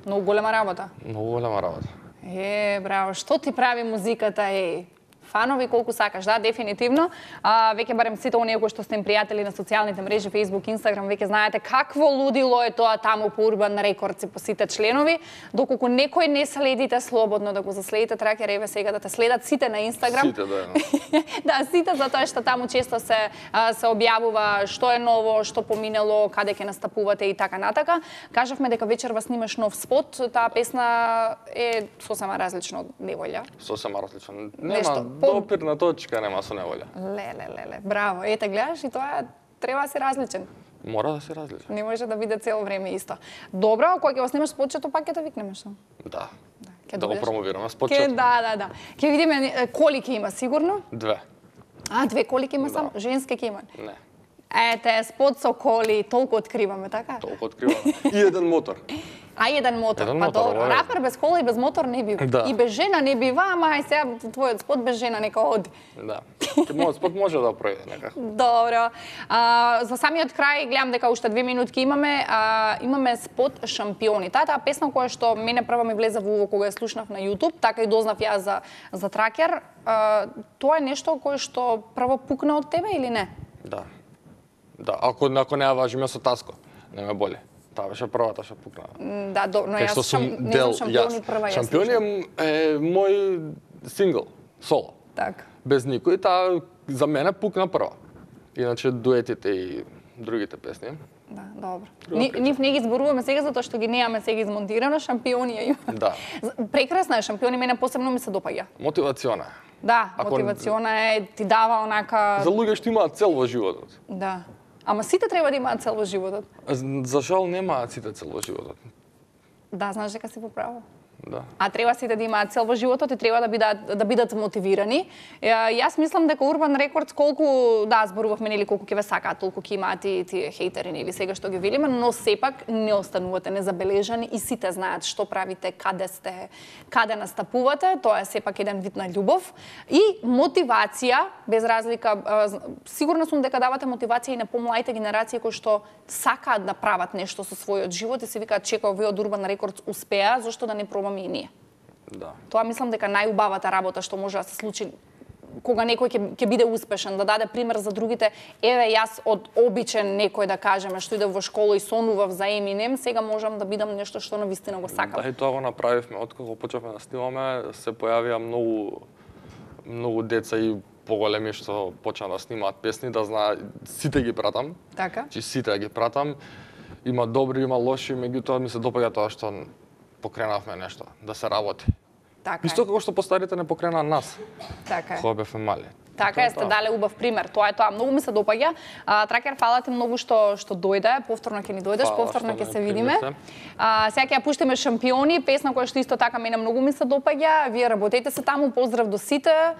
Многу голема работа. многу голема работа. Е, браво, што ти прави музиката, е? Фанови колку сакаш, да, дефинитивно. А, веќе барем сите оние кои што сте им пријатели на социјалните мрежи, Facebook, Instagram, веќе знаете какво лудило е тоа таму по Урбан Рекордс и по сите членови. Доколку некој не следите, слободно да го заследите, Тракер, еве сега да те следат сите на Instagram. Сите да е. Да, сите, затоа што таму често се а, се објавува што е ново, што поминало, каде ќе настапувате и така натака. Кажавме дека вечерва снимаш нов спот, таа песна е сосема различна од Неволја. Сосема различен. Нешто Нема по- допирна точка, нема со неволја. Леле, леле, браво. Ете, гледаш и тоа треба да си различен. Мора да се различен. Не може да биде цело време исто. Добро, кога ќе го снимаш спотчето, пак ќе те викнеме што? Да. Ќе Да го дојдеш? промовираме Ке, спочет. да, да, да. Ќе видиме е, коли ќе има сигурно. Две. А, две коли ќе има Да. само, женски ќе има. Не. Ете, спот со коли, толку откриваме, така? Толку откриваме. И еден мотор. А еден мотор, Еден па мотор, добро. ова е. Рапер без кола и без мотор не бива. Да. И без жена не бива, ама ај сега твојот спот без жена нека оди. Да. Мојот спот може да пројде некако. Добро. А, за самиот крај, гледам дека уште две минутки имаме, а, имаме спот Шампиони. Таа таа песна која што мене прва ми влезе во уво кога ја слушнав на YouTube, така и дознав ја за за Тракер. А, тоа е нешто кое што прво пукна од тебе или не? Да. Да, ако ако не ја важиме со Таско, не ме боли. Таа беше првата што пукна. М, Да, до, но Кај јас што сум шам, не дел знам Шампиони јас. прва ја Шампиони слушнав. е, е мој сингл, соло. Така. Без никој, таа за мене пукна прва. Иначе дуетите и другите песни. Да, добро. Ни, нив не ги зборуваме сега затоа што ги немаме сега измонтирано, Шампиони ја има. Да. Прекрасна е Шампиони, мене посебно ми се допаѓа. Мотивациона. Да, Ако- мотивациона е, ти дава онака... За луѓе што имаат цел во животот. Да. Ама сите треба да имаат цел во животот. За жал немаат сите цел во животот. Да, знаеш дека си во право. Да. А треба сите да имаат цел во животот и треба да бидат да бидат мотивирани. Ја, јас мислам дека Урбан Рекордс колку да зборувавме нели колку ќе ве сакаат, толку ќе имаат и тие хейтери нели сега што ги велиме, но сепак не останувате незабележани и сите знаат што правите, каде сте, каде настапувате, тоа е сепак еден вид на љубов и мотивација, без разлика а, з- сигурна сум дека давате мотивација и на помладите генерации кои што сакаат да прават нешто со својот живот и се викаат чека овие од Урбан Рекордс успеа, зошто да не пробаме и ние. Да. Тоа мислам дека најубавата работа што може да се случи кога некој ќе ќе биде успешен, да даде пример за другите. Еве јас од обичен некој да кажеме што иде во школа и сонував за Еминем, сега можам да бидам нешто што навистина го сакам. Да, и тоа го направивме. Откако почнавме да снимаме, се појавија многу многу деца и поголеми што почна да снимаат песни, да знаат, сите ги пратам. Така? Чи сите ги пратам. Има добри, има лоши, меѓутоа ми се допаѓа тоа што покренавме нешто, да се работи. Така Исто е. како што постарите не покренаа нас, Така е. кога бевме мали. Така Тоа е, сте тоа. дале убав пример. Тоа е тоа. Многу ми се допаѓа. А, Тракер, фала ти многу што што дојде. Повторно ќе ни дојдеш, Фала повторно што ќе ме се видиме. примивте. А, сега ќе ја пуштиме Шампиони, песна која што исто така мене многу ми се допаѓа. Вие работете се таму, поздрав до сите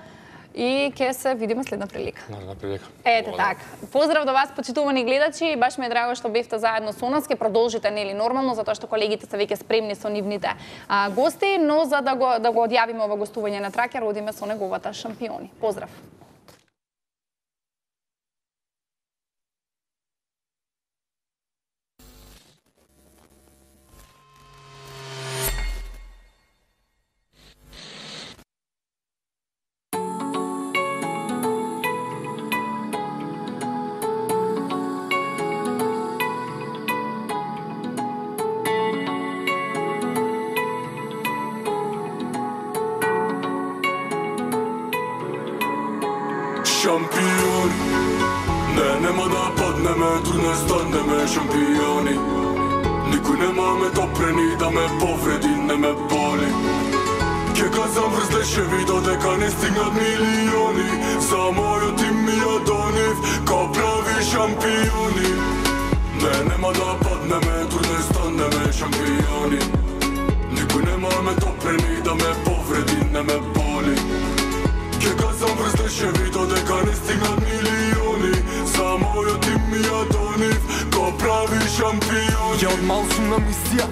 и ќе се видиме следна прилика. Наредна прилика. Ете Благодарам. така. Поздрав до вас, почитувани гледачи. Баш ми е драго што бевте заедно со нас. Ке продолжите нели нормално затоа што колегите се веќе спремни со нивните а, гости, но за да го да го одјавиме ова гостување на Тракер, одиме со неговата Шампиони. Поздрав. Шампиони, не, нема да паднеме, дур не станеме шампиони. Никој нема ме допрени да ме повреди, не ме боли. Ке казам врз лешеви додека не стигнат милиони. За мојот им ми ја донив, као прави шампиони. Не, нема да паднеме, дур не станеме шампиони. Никој нема ме допрени да ме повреди, не ме боли. Ке казам врз лешеви додека не стигнат милиони. За мојот им ми ја донив, као прави шампиони. Ја од мал сум на мисија,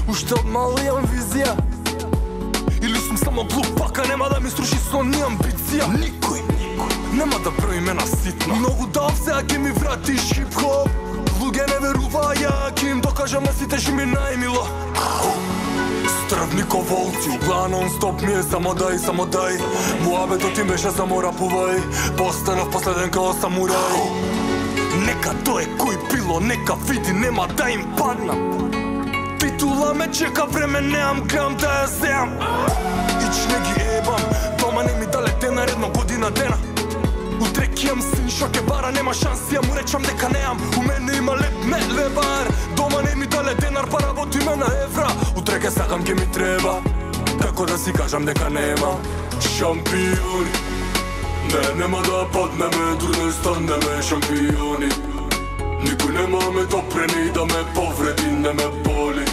уште од мал имам визија. Или сум само глуп, пака нема да ми струши сон ни амбиција. Никој, никој, нема да брои ме на ситно. Многу дав сега ќе ми врати хип-хоп. Луѓе не веруваја, ќе им докажам на сите што ми најмило. Стрвни ко волци, углава нон-стоп ми е само дај, само дај. Муабетот им беше само рапувај, постанав последен као самурај. Нека тоа е кој било, нека види, нема да им паднам. Титула ме чека, време неам, грам да ја земам. Ич не ги ебам, дома не ми дале денар, едно година дена. Утре кијам син шо ке бара, нема шанси, ја му речам дека неам. У мене има леп, не лебар. Дома не ми дале денар, па работиме на евра. Утре ке сакам, ке ми треба. Како да си кажам дека нема шампиони. Не, нема да паднеме, дур не станеме шампиони. Никој нема ме допрени да ме повреди, не ме боли.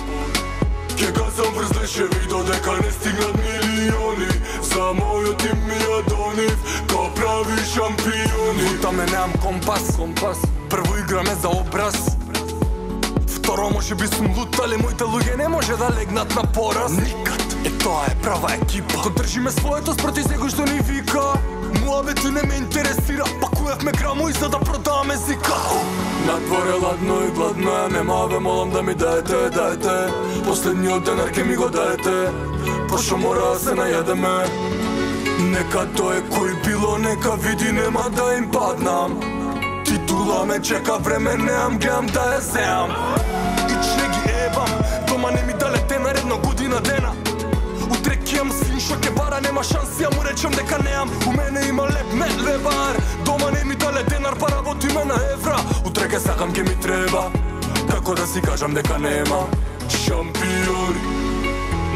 Ке газам врз лешеви додека не стигнат милиони. За мојот им ми ја донив, као прави шампиони. Лутаме, неам компас, компас. Прво играме за образ. Второ, може би сум лут, али моите луѓе не може да легнат на пораз. Никад, е тоа е права екипа. Ко држиме своето спроти секој што ни вика. Муабети не ме интересира, пакуевме грамо и за да продаваме зика. Надвор е ладно и гладно, ја нема ве молам да ми даете, даете. Последниот денар ке ми го даете, пошто мора да се најадеме. Нека тоа е кој било, нека види, нема да им паднам. Титула ме чека, време неам, гледам да ја земам. Ич не ги ебам, дома не ми дале денар, едно година дена. Утре кијам син шо ке бара, нема шанси, ја му речам дека неам. У мене има леп, не лебар. Дома не ми дале денар, па работиме на евра. Утре ке сакам, ке ми треба. Како да си кажам дека нема шампиони.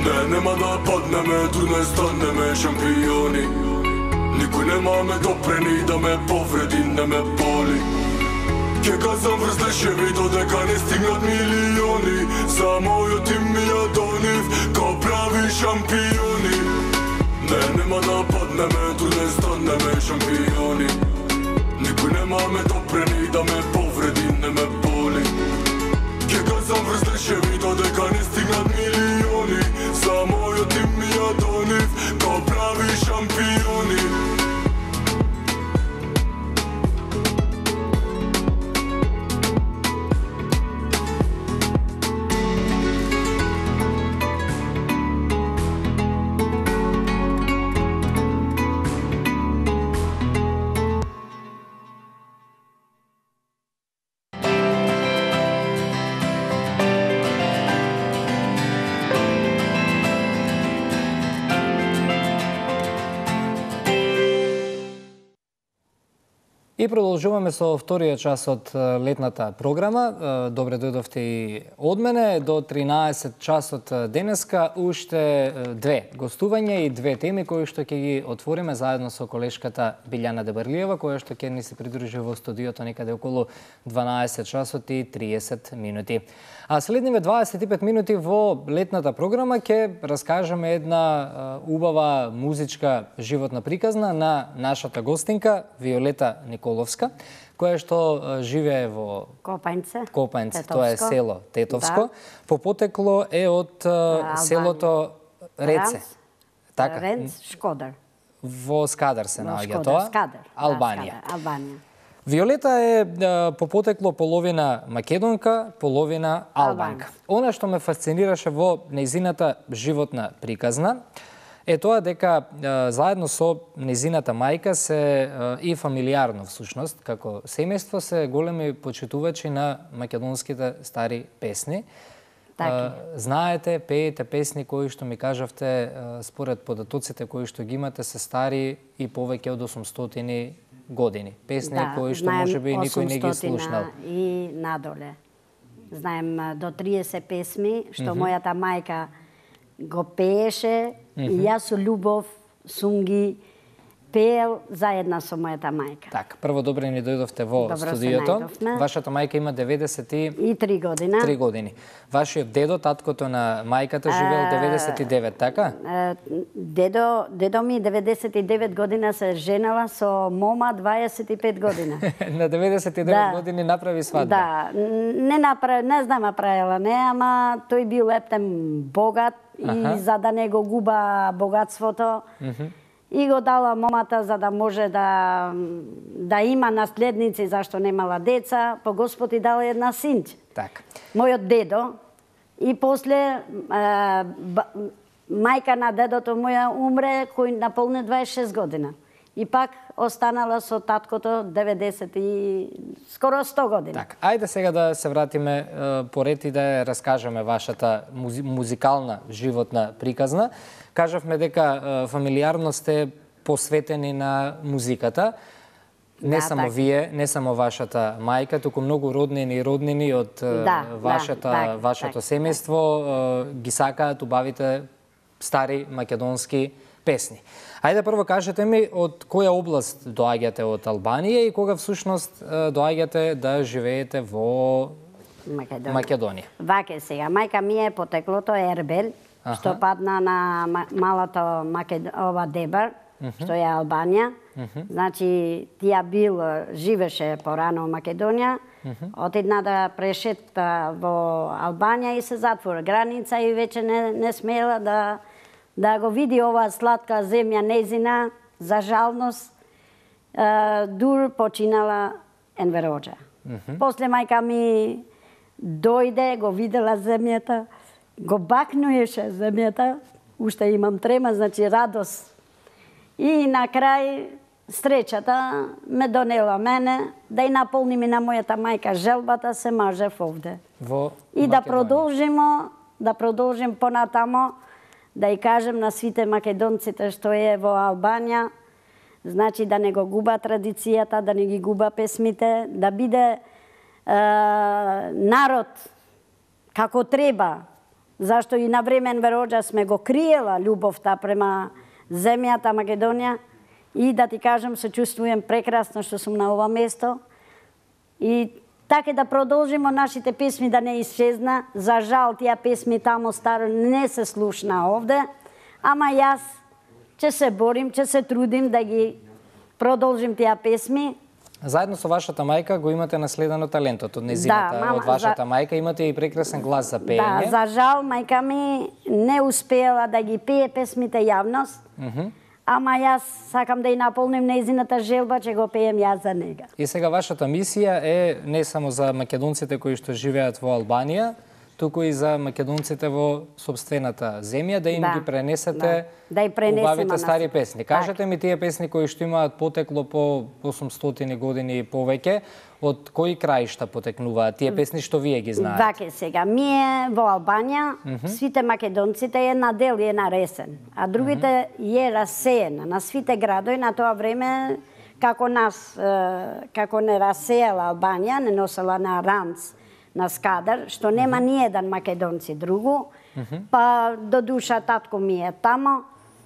Не, нема да паднеме, дур не станеме шампиони. Никој нема ме допрени да ме повреди, не ме боли. Ке газам врз лешеви додека не стигнат милиони. За мојот им ми ја донив, као прави шампиони. Не, нема да паднеме, дур не станеме шампиони. Никој нема ме допрени да ме повреди, не ме боли. Ке газам врз лешеви додека не стигнат милиони. За мојот им ми ја донив, као прави шампиони. И продолжуваме со вториот час од летната програма. Добре дојдовте и од мене. До тринаесет часот денеска уште две гостувања и две теми кои што ќе ги отвориме заедно со колешката Билјана Дебарлиева, која што ќе ни се придружи во студиото некаде околу дванаесет часот и триесет минути. А следниве дваесет и пет минути во летната програма ќе раскажеме една убава музичка животна приказна на нашата гостинка Виолета Николовска, која што живее во Копањце, Копањце, Тетовско. тоа е село Тетовско. Да. По потекло е од Албанија. селото Реце. Ранц, Така. Ренц, Шкодар. Во Скадар се Во наоѓа Шкодар, тоа. Скадар. Албанија. Да, Скадар, Албанија. Виолета е е, по потекло половина македонка, половина албанка. Она што ме фасцинираше во нејзината животна приказна е тоа дека е, заедно со нејзината мајка се е, и фамилиарно всушност, како семејство се големи почитувачи на македонските стари песни. Така. Знаете, пеете песни кои што ми кажавте, според податоците кои што ги имате, се стари и повеќе од осумстотини години. Песни Да, кои што знаем можеби никој не ги слушнал. осумстотина и надоле. Знаем а, до триесет песми, што мојата мајка го пееше и јас со љубов сум ги пеел заедно со мојата мајка. Так, прво добре ни дојдовте во Добро се студиото. најдовме. Вашата мајка има деветдесет и И три година. три години. Вашиот дедо, таткото на мајката, живеел деветдесет и девет, така? Е, Дедо, дедо ми деветдесет и девет година се женала со мома дваесет и пет година. На деветдесет и девет Да. години направи свадба. Да, не направи, не знам направила не, ама тој бил ептен богат Аха. и за да не го губа богатството, и го дала момата за да може да да има наследници зашто немала деца, по Господ и дала една синче. Така. Мојот дедо и после е, ба, мајка на дедото моја умре кој наполни дваесет и шест година. И пак останала со таткото деветдесет и скоро сто години. Така, ајде сега да се вратиме е, поред и да ја раскажеме вашата музи, музикална животна приказна. Кажавме дека е, фамилиарно сте посветени на музиката. Не Да, само така. вие, не само вашата мајка, туку многу роднини и роднини од е, Да, вашата, да, така, вашето така. семејство е, ги сакаат убавите стари македонски песни. Ајде прво кажете ми од која област доаѓате од Албанија и кога всушност е, доаѓате да живеете во Македонија. Македонија. Ваке сега, мајка ми е потеклото Ербел, Аха. што падна на ма- малото Макед... ова Дебар, што е Албанија. Значи, тија бил, живеше порано во Македонија, отидна да прешета во Албанија и се затвора граница и веќе не, не смела да, да го види оваа сладка земја незина, за жалност, е, дур починала Енвероџа. После мајка ми дојде, го видела земјата, го бакнуеше земјата, уште имам трема, значи радост. И на крај среќата ме донела мене да и наполни ми на мојата мајка желбата се мажев овде. Во И да Македонија. продолжимо, да продолжим понатамо, да и кажем на сите македонците што е во Албанија, значи да не го губа традицијата, да не ги губа песмите, да биде е, народ како треба, зашто и на време Енвероџа сме го криела љубовта према земјата Македонија и да ти кажам се чувствувам прекрасно што сум на ова место и така да продолжимо нашите песми да не исчезна. За жал тие песми тамо старо не се слушна овде, ама јас ќе се борим, ќе се трудим да ги продолжим тие песми. Заедно со вашата мајка го имате наследено талентот од незината, Да, мама, од вашата за- мајка, имате и прекрасен глас за Да, пеење. за жал мајка ми не успеела да ги пее песмите јавност, ама јас сакам да и наполним нејзината желба, ќе го пеем јас за нега. И сега вашата мисија е не само за македонците кои што живеат во Албанија, туку и за македонците во собствената земја, да им Да, ги пренесете да. Да и пренесеме убавите на стари сите. песни. Така. Кажете ми тие песни кои што имаат потекло по осумстотини години и повеќе, од кои краишта потекнуваат тие песни што вие ги знаете? Ваке сега, ние во Албанија, свите македонците е на дел и е на ресен, а другите е расеена на свите градови на тоа време, како нас, е, како не расеела Албанија, не носела на Ранц, на Скадар, што нема ни еден македонци другу, па до душа татко ми е тамо,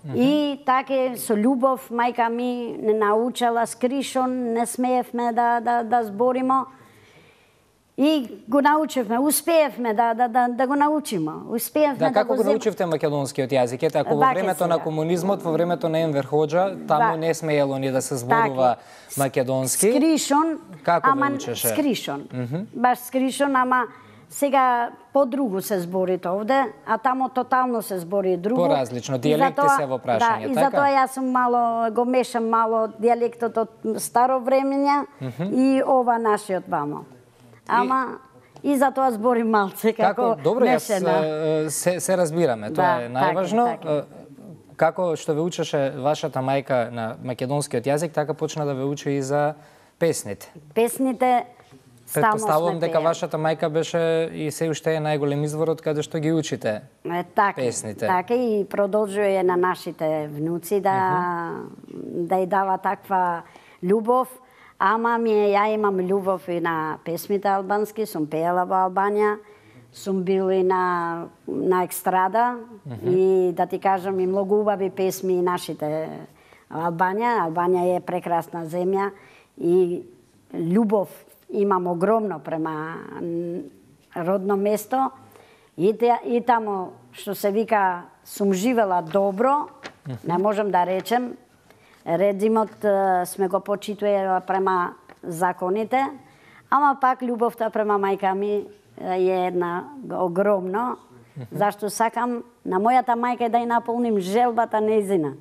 и така со љубов мајка ми не научала скришон, не смеевме да, да, да зборимо. И го научивме, успеевме да, да, да, да го научиме. Успеевме Да, да, како го го зем... научивте македонскиот јазик? Ете, ако во Ваке времето на сега. комунизмот, во времето на Енвер Хоџа, таму Да. не смеело ни да се зборува Така. македонски. Скришон, Како ама го учеше? скришон. Баш скришон, ама сега по-другу се збори овде, а тамо тотално се збори друго. Поразлично, И дијалекти затоа- се во прашање, да, и така? затоа јас сум мало, го мешам мало дијалектот од старо времења и ова нашиот вамо. Ама и затоа зборим малце како, Како, добро, јас мешана. е, се, се разбираме, тоа Да, е најважно. така е, така Е, Како што ве учеше вашата мајка на македонскиот јазик, така почна да ве учи и за песните. Песните стално Предпоставувам сме дека пеели. вашата мајка беше и се уште е најголем изворот каде што ги учите. Е, така, песните. така и продолжува на нашите внуци да, да и дава таква љубов, ама ми е, ја имам љубов и на песмите албански, сум пеела во Албанија, сум бил и на, на екстрада, mm -hmm. и да ти кажам и многу убави песми и нашите Албанија. Албанија е прекрасна земја и љубов имам огромно према родно место и, те, и тамо што се вика сум живела добро, mm -hmm. не можам да речем, редимот сме го почитувала према законите, ама пак љубовта према мајка ми е една огромно, mm -hmm. зашто сакам на мојата мајка да ја наполним желбата нејзина.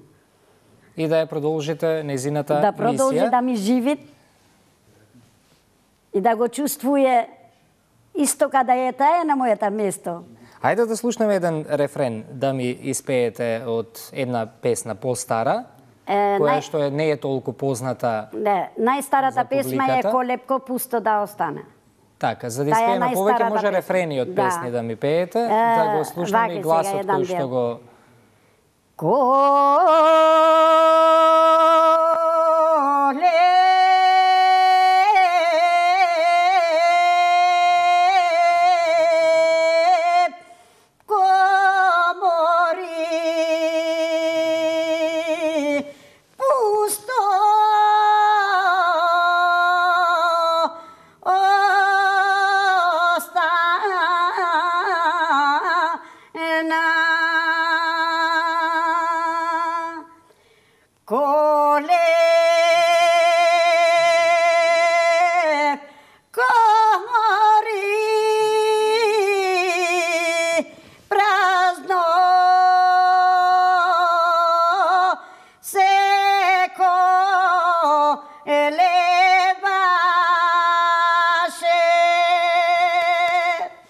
И да ја продолжите нејзината да продолжи мисија. Да ми живи и да го чувствуе исто када е таа на мојата место. Ајде да слушнеме еден рефрен, да ми испеете од една песна по-стара, е, која нај... што е, не е толку позната. Не, најстарата песма е Колепко пусто да остане. Така, за да испееме повеќе може песма. Рефрени од песни да, да ми пеете, е, да го слушнеме и гласот кој што го... Коле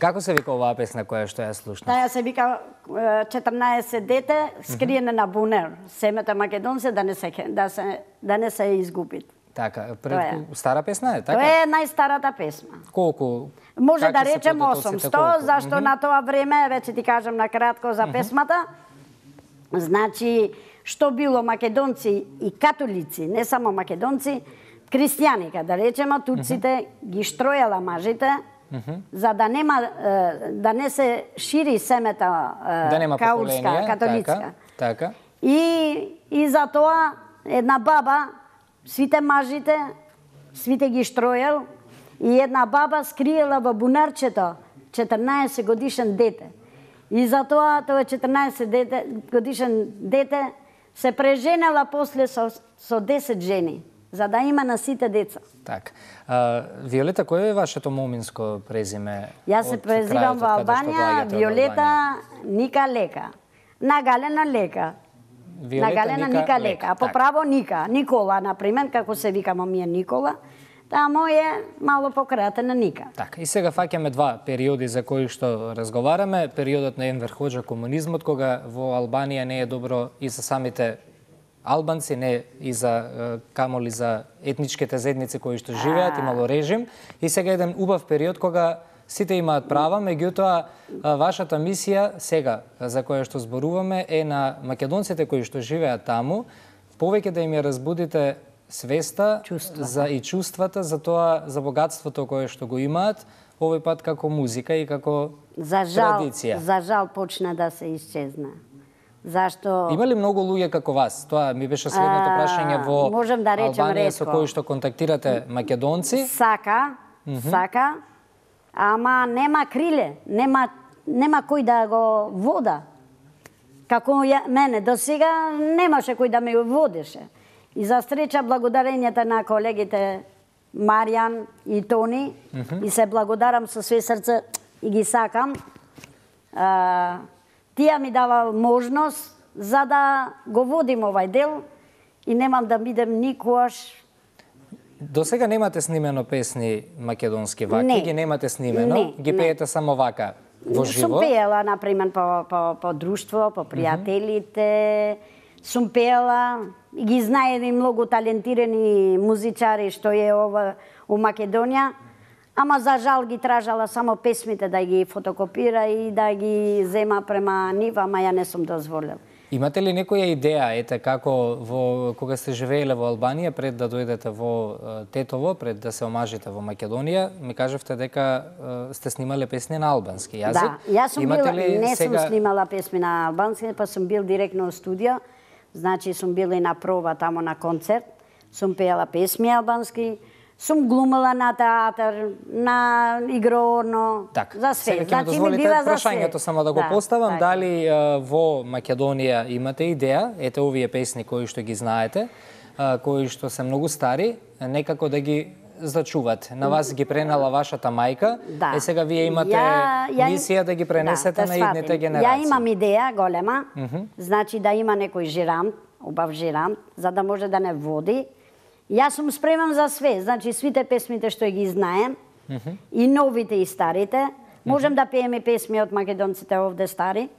Како се вика оваа песна која што ја слушнав? Таа се вика четрнаесет дете скриене на бунер. Семето македонци да не се да се да не се изгубит. Така, пред стара песна е, така? Тоа е најстарата песма. Колку? Може да речем осумсто, зашто mm -hmm. на тоа време, веќе ти кажам на кратко за песмата, mm -hmm. значи, што било македонци и католици, не само македонци, христијани, да речеме, турците mm -hmm. ги штројала мажите, mm -hmm. за да нема, да не се шири семета да нема каулска, католицка. Така, така. И, и за тоа една баба, сите мажите, свите ги штројал, и една баба скриела во бунарчето четрнаесет годишен дете. И затоа тоа четрнаесет дете, годишен дете се преженела после со, со десет жени, за да има на сите деца. Така. А, Виолета, кој е вашето моминско презиме? Јас се презивам во Албанија, Виолета Ника Лека. Нагалена Лека. Виолета, Нагалена Ника, Ника Лека. А по право Ника. Никола, например, како се викамо ми е Никола. Тамо е мало пократена Ника. Така, и сега фаќаме два периоди за кои што разговараме. Периодот на Енвер Хоџа, комунизмот, кога во Албанија не е добро и за самите албанци, не и за камоли за етничките заедници кои што живеат, имало режим. И сега еден убав период кога сите имаат права, меѓутоа вашата мисија сега за која што зборуваме е на македонците кои што живеат таму, повеќе да им ја разбудите свеста чувства. За и чувствата за тоа, за богатството кое што го имаат, овој пат како музика и како за жал, традиција. За жал почна да се исчезна. Зашто Има ли многу луѓе како вас? Тоа ми беше следното прашање во можем да речем Албанија ретко. Со кои што контактирате македонци? Сака, mm -hmm. сака, ама нема криле, нема нема кој да го вода. Како ја, мене до сега немаше кој да ме водеше. И за среќа благодарењето на колегите Маријан и Тони, mm -hmm. и се благодарам со све срце и ги сакам. А, тие ми дава можност за да го водим овај дел и немам да бидем никогаш. До сега немате снимено песни македонски вака, не. Ги немате снимено, не, ги пеете не. само вака во живо? Сум пеела, например, по, по, по друштво, по пријателите, mm -hmm. сум пеела, ги знаели многу талентирани музичари што е ова у Македонија, ама за жал ги тражала само песмите да ги фотокопира и да ги зема према нив, ама ја не сум дозволил. Имате ли некоја идеја, ете, како во, кога сте живееле во Албанија, пред да дојдете во Тетово, пред да се омажите во Македонија, ми кажавте дека е, сте снимале песни на албански јазик? Да, јас сум Имате била, ли не сега... сум снимала песми на албански, па сум бил директно во студио, значи сум била и на проба тамо на концерт, сум пеела песми албански, сум глумела на театар, на игрорно, Так, за све. сега ќе ми Значи, ми дозволите била за прашањето све. само да го Да, поставам, така. дали е, во Македонија имате идеја, ете овие песни кои што ги знаете, е, кои што се многу стари, некако да ги зачувате. На вас ги пренела вашата мајка, Да. е сега вие имате Ја- ја им- мисија да ги пренесете да, на да идните сватим. генерации. Ја имам идеја голема, значи да има некој жирант, убав жирант, за да може да не води. Јас сум спреман за све, значи свите песмите што ги знаем, и новите и старите. Можем да пееме песми од македонците овде стари.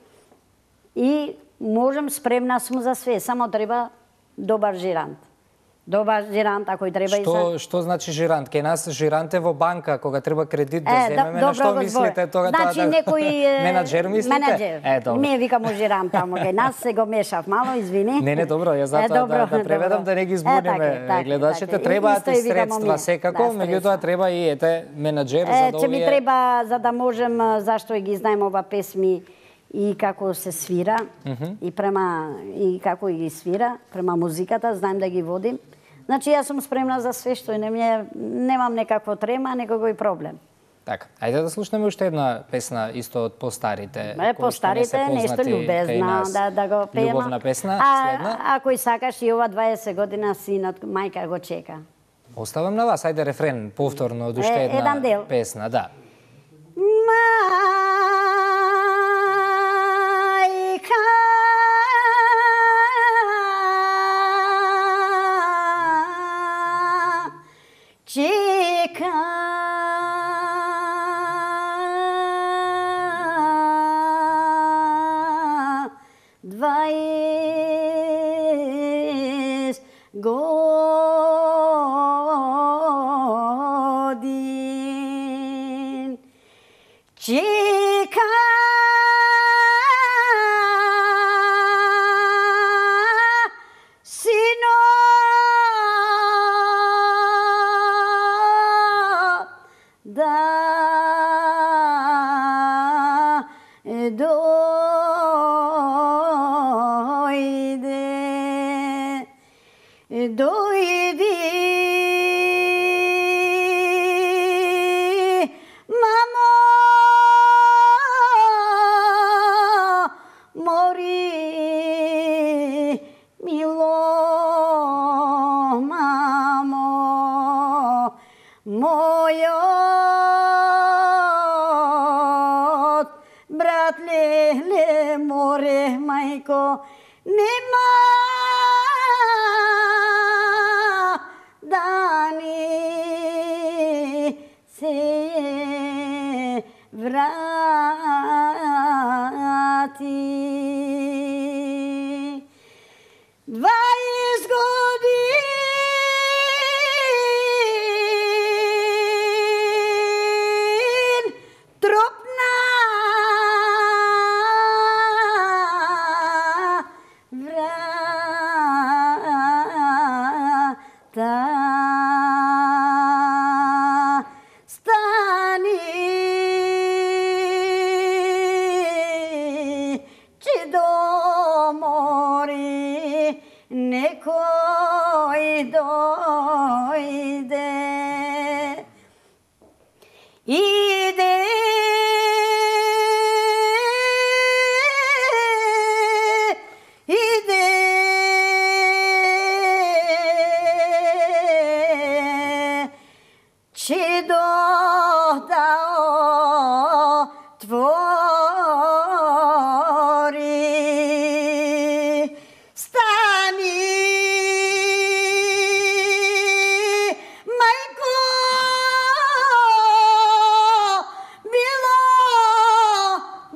И можем, спремна сум за све, само треба добар жирант. Добар жирант, ако и треба и Што, за... што значи жирант? Кај нас жирант е во банка, кога треба кредит да Е, земеме, да, на што добро го мислите збори. тоа? Значи тоа, да... некој е, менаџер мислите? Менаџер. Е, добро. Ние викамо жирант тамо кај нас, се го мешав мало, извини. Не, не, добро, ја затоа Е, добро, да, да преведам добро. да не ги Е, збуниме така е, така е, гледачите. така е. Требаат Исто и и викамо средства ние. секако, Да, меѓутоа средства. треба и ете менаџер Е, за да че ми овие... треба, за да можем, а, зашто и ги знаем ова песми и како се свира, и према и како и ги свира, према музиката, знаем да ги водим. Значи јас сум спремна за све што и не ми немам некакво трема, некој проблем. Така, ајде да слушнеме уште една песна исто од постарите. Е, кои што не постарите, се нешто познати кај љубезно, нас. да, да го пееме. Љубовна песна, а, следна. Ако и сакаш и ова дваесет година синот мајка го чека. Оставам на вас, ајде рефрен, повторно од уште Е, една еден дел. песна, да. Мајка чека дваесет годин. Чека сино да дојде, дојди, мамо, мори, мило, мамо, мојот брат леле море, мајко, нема дани се врати. дваесет годин тропна врата. Стани, че домори, некој дојде. Иде иде че дојда отвори. Стани, мајко, било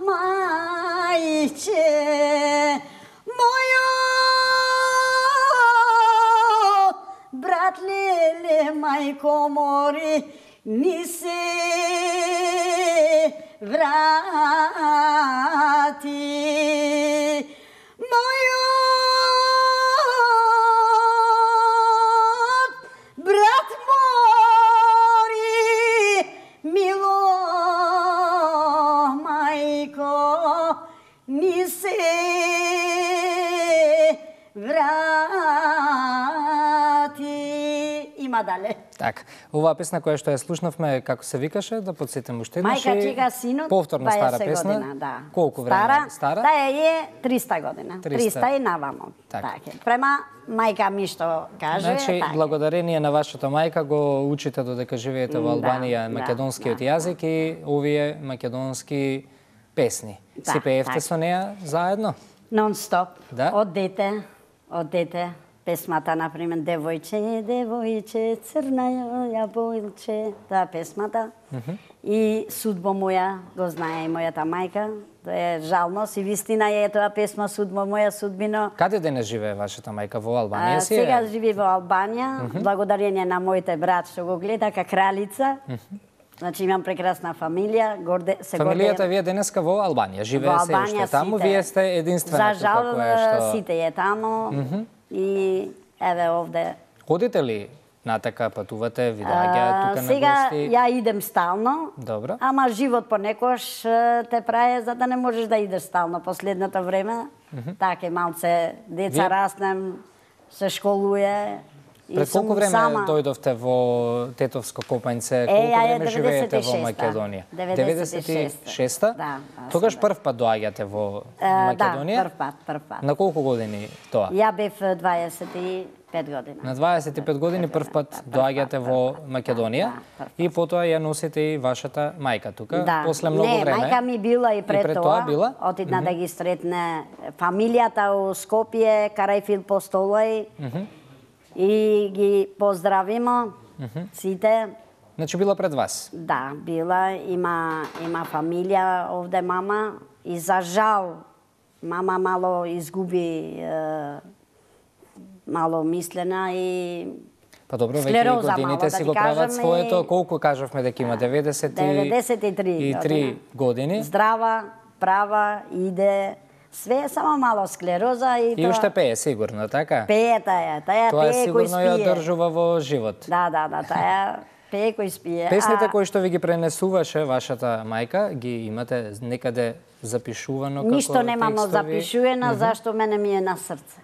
мајче, мојот брат леле, мајко, мори, ни се врати. Мојот нема дале. Така, оваа песна која што ја слушнавме, како се викаше, да подсетим уште еднаш. Мајка чека синот, повторно стара песна. година, да. Колку време стара, стара? Таа е триста година. триста и навамо. Така. Така. Према мајка ми што каже, Значи, така. благодарение на вашата мајка го учите додека живеете во Албанија Да, македонскиот да, јазик и овие македонски песни. Да, Си пеевте така. со неа заедно? Нон-стоп. Да? Од дете, од дете. Песмата, например, Девојче, девојче, црна јаболче, таа песмата. И Судбо моја, го знае и мојата мајка. Тоа е жално, си вистина е тоа песма Судбо моја, судбино. Каде денес живее вашата мајка? Во Албанија А, си е? сега живи во Албанија, благодарение на моите брат што го гледа, ка кралица. Значи имам прекрасна фамилија, горде се Фамилијата гордеем. ви е денеска во Албанија, живее Во се уште Албанија таму, сите. вие сте единствената За жал, која што... сите е таму и еве овде. Ходите ли натака, патувате, ви доаѓаат А, тука на сега гости? ја идем стално. Добро. Ама живот понекош е, те праe за да не можеш да идеш стално последното време. Така малце деца Вие- раснем, се школуе. и Пред сум колку време сама. дојдовте во Тетовско Копањце? Е, Колку ја е време живеете во деветдесет и шеста. Македонија? деветдесет и шеста. Да, аз Тогаш сум, да. прв пат доаѓате во Е, Македонија? Да, прв пат, прв пат. На колку години тоа? Ја бев дваесет и пет година. На дваесет и пет години прв пат доаѓате во Македонија Да, прв пат. и потоа ја носите и вашата мајка тука. Да. После многу не, време. мајка ми била и пред, пред тоа. тоа била? Отидна да ги сретне фамилијата у Скопје, Карајфил Постолој. И ги поздравимо сите. Значи била пред вас. Да, била, има, има фамилија овде мама и за жал мама мало изгуби е, мало мислена и Па добро, веќе и склероза годините мало, да си ви го прават кажам, своето. и- Колку кажавме дека има деветдесет деветдесет и три и три години. Здрава, права, иде, све само мало склероза и, И тоа уште пее сигурно, така? пее таа, таа Тоа пее кој сигурно ја спие. одржува во живот. Да, да, да, таа пее кој спие. Песните а кои што ви ги пренесуваше вашата мајка, ги имате некаде запишувано како Ништо немам текстови? запишувано, зашто мене ми е на срце.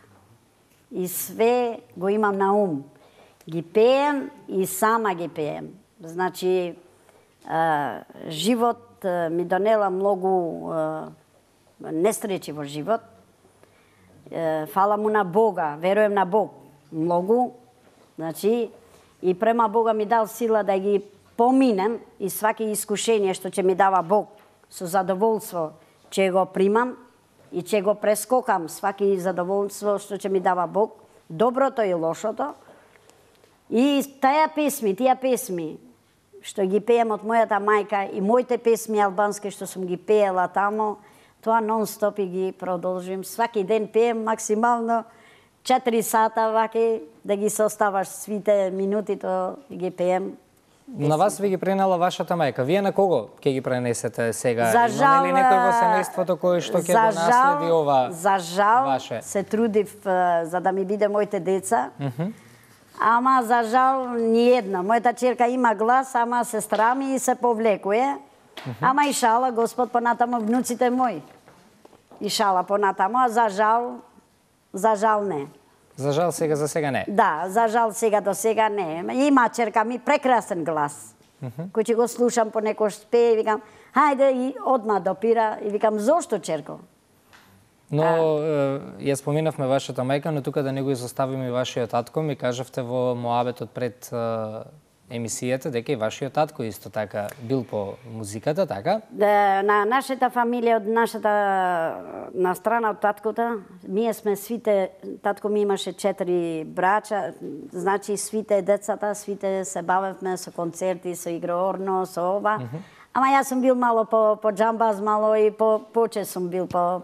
И све го имам на ум. Ги пеем и сама ги пеем. Значи, а, живот а, ми донела многу а, несреќи во живот. Е, фала му на Бога, веруем на Бог многу. Значи, и према Бога ми дал сила да ги поминем и сваки искушение што ќе ми дава Бог со задоволство ќе го примам и ќе го прескокам сваки задоволство што ќе ми дава Бог, доброто и лошото. И таа песми, тие песми што ги пеем од мојата мајка и моите песми албански што сум ги пеела тамо, тоа нон-стоп и ги продолжим. Сваки ден пеем максимално четири сата ваки да ги составаш свите минути, тоа ги пеем. На вас ви ги пренела вашата мајка. Вие на кого ќе ги пренесете сега? За жал, Има ли некој во семејството кој што ќе го за наследи жал- ова За жал ваше? се трудив е, за да ми биде моите деца. Ама за жал ни една. Мојата черка има глас, ама сестра ми се повлекуе. Ама и шала Господ понатамо внуците мои. И шала понатамо, а за жал, за жал не. За жал сега за сега не. Да, за жал сега до сега не. Има черка ми прекрасен глас. Кој ќе го слушам понекош спее и викам, хајде и одма допира и викам, зошто черко? Но е, ја споменавме вашата мајка, но тука да не го изоставиме и вашиот татко, ми кажавте во моабетот пред е, емисијата дека и вашиот татко исто така бил по музиката, така? Да, на нашата фамилија, од нашата на страна од таткото, ние сме свите, татко ми имаше четири брача, значи свите децата, свите се бавевме со концерти, со игроорно, со ова. Ама јас сум бил мало по, по джамбаз, мало и по поче сум бил по,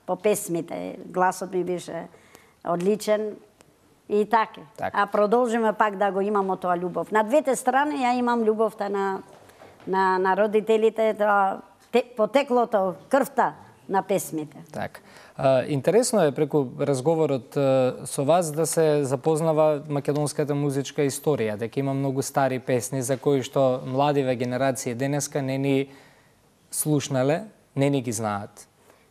по песмите. Гласот ми беше одличен. И така. Така. А продолжиме пак да го имамо тоа љубов. На двете страни ја имам љубовта на на, на родителите, тоа те, потеклото, крвта на песмите. Так. А, интересно е преку разговорот а, со вас да се запознава македонската музичка историја, дека има многу стари песни за кои што младиве генерации денеска не ни слушнале, не ни ги знаат.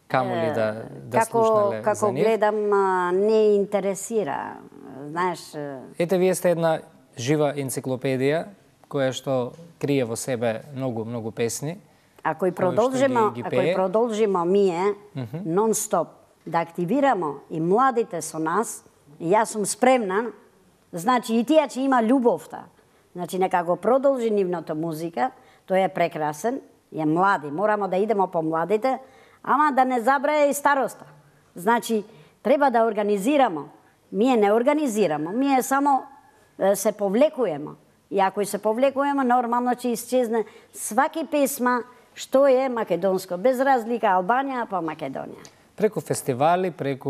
Камо ли да, да како, слушнале како за нив. гледам, а, не интересира. Знаеш, Ете, вие сте една жива енциклопедија која што крие во себе многу многу песни. Ако и продолжиме, ги, ги ако и продолжиме ние mm -hmm. нон-стоп да активираме и младите со нас, и јас сум спремна, значи и тие че има љубовта. Значи нека го продолжи нивната музика, тој е прекрасен, е млади, морамо да идеме по младите, ама да не забрае и староста. Значи треба да организираме. Ние не организираме, ние само е, се повлекуваме. И ако се повлекуваме, нормално ќе исчезне сваки песма што е македонско, без разлика Албанија па Македонија. Преку фестивали, преку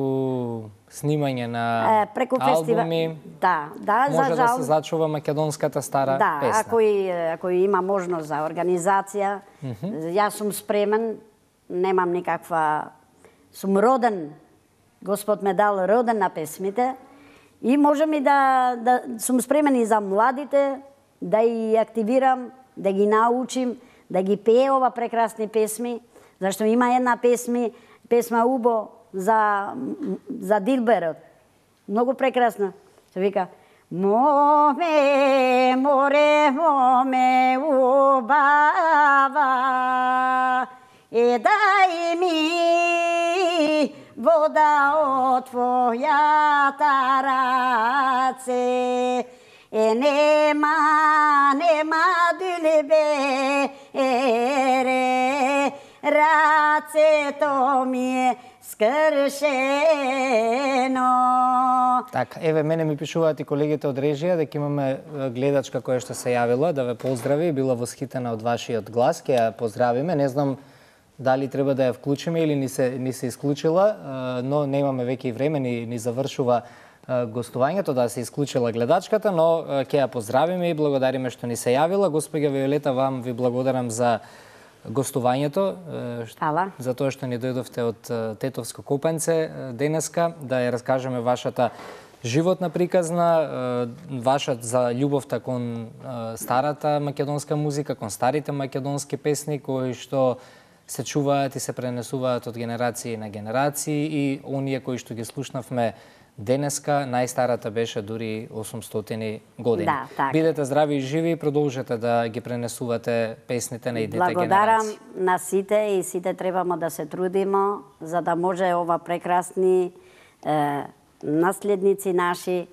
снимање на е, преку албуми, фестива... да, да, може за да жал... се зачува македонската стара да, песна. Ако и, ако и има можност за организација, mm -hmm. јас сум спремен, немам никаква... Сум роден, Господ ме дал роден на песмите, и можем и да, да сум спремен и за младите, да ги активирам, да ги научим, да ги пее ова прекрасни песми, зашто има една песми, песма Убо за, за Дилберот. Многу прекрасна. Се вика Моме, море, моме, убава, е дај ми вода од твојата раце. Е нема, нема дулебе, ере, рацето ми е скршено. Така, еве, мене ми пишуваат и колегите од режија дека имаме гледачка која што се јавила да ве поздрави, била восхитена од вашиот глас, ќе ја поздравиме. Не знам дали треба да ја вклучиме или ни се, ни се исклучила, но немаме веќе и време, ни, ни завршува гостувањето, да се исклучила гледачката, но ќе ја поздравиме и благодариме што ни се јавила. Господја Виолета, вам ви благодарам за гостувањето, Хvala. за тоа што ни дојдовте од Тетовско Копанце денеска, да ја раскажеме вашата животна приказна, вашата за љубовта кон старата македонска музика, кон старите македонски песни кои што се чуваат и се пренесуваат од генерации на генерации, и оние кои што ги слушнавме денеска, најстарата беше дури осумстотини години. Да, така. Бидете здрави и живи и продолжете да ги пренесувате песните на идните генерации. Благодарам на сите, и сите требамо да се трудиме за да може ова прекрасни е, наследници наши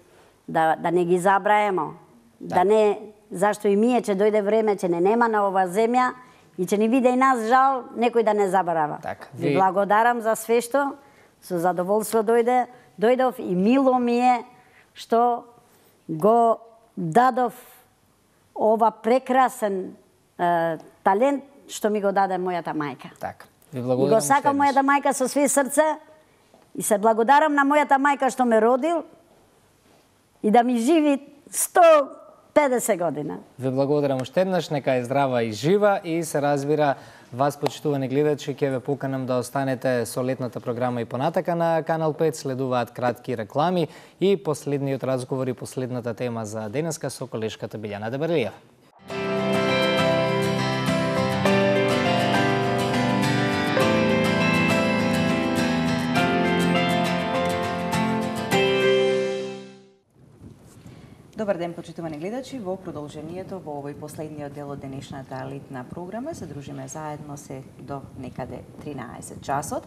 да, да не ги забраемо. Да. да не, зашто и ние че дојде време че не нема на ова земја и че ни биде и нас жал некој да не забрава. Так, ви... ви благодарам за све што, со задоволство дојде. Дојдов и мило ми е што го дадов ова прекрасен е, талент што ми го даде мојата мајка. Так. Ви И благодарам. го сакам мојата мајка со све срце, и се благодарам на мојата мајка што ме родил и да ми живи сто педесет година. Ви благодарам уште еднаш, нека е здрава и жива, и се разбира вас, почитувани гледачи, ќе ве поканам да останете со летната програма и понатака на Канал пет, следуваат кратки реклами и последниот разговор и последната тема за денеска со колешката Билјана Дебарлиева. Добар ден, почитувани гледачи. Во продолжението во овој последниот дел од денешната летна програма се дружиме заедно се до некаде тринаесет часот.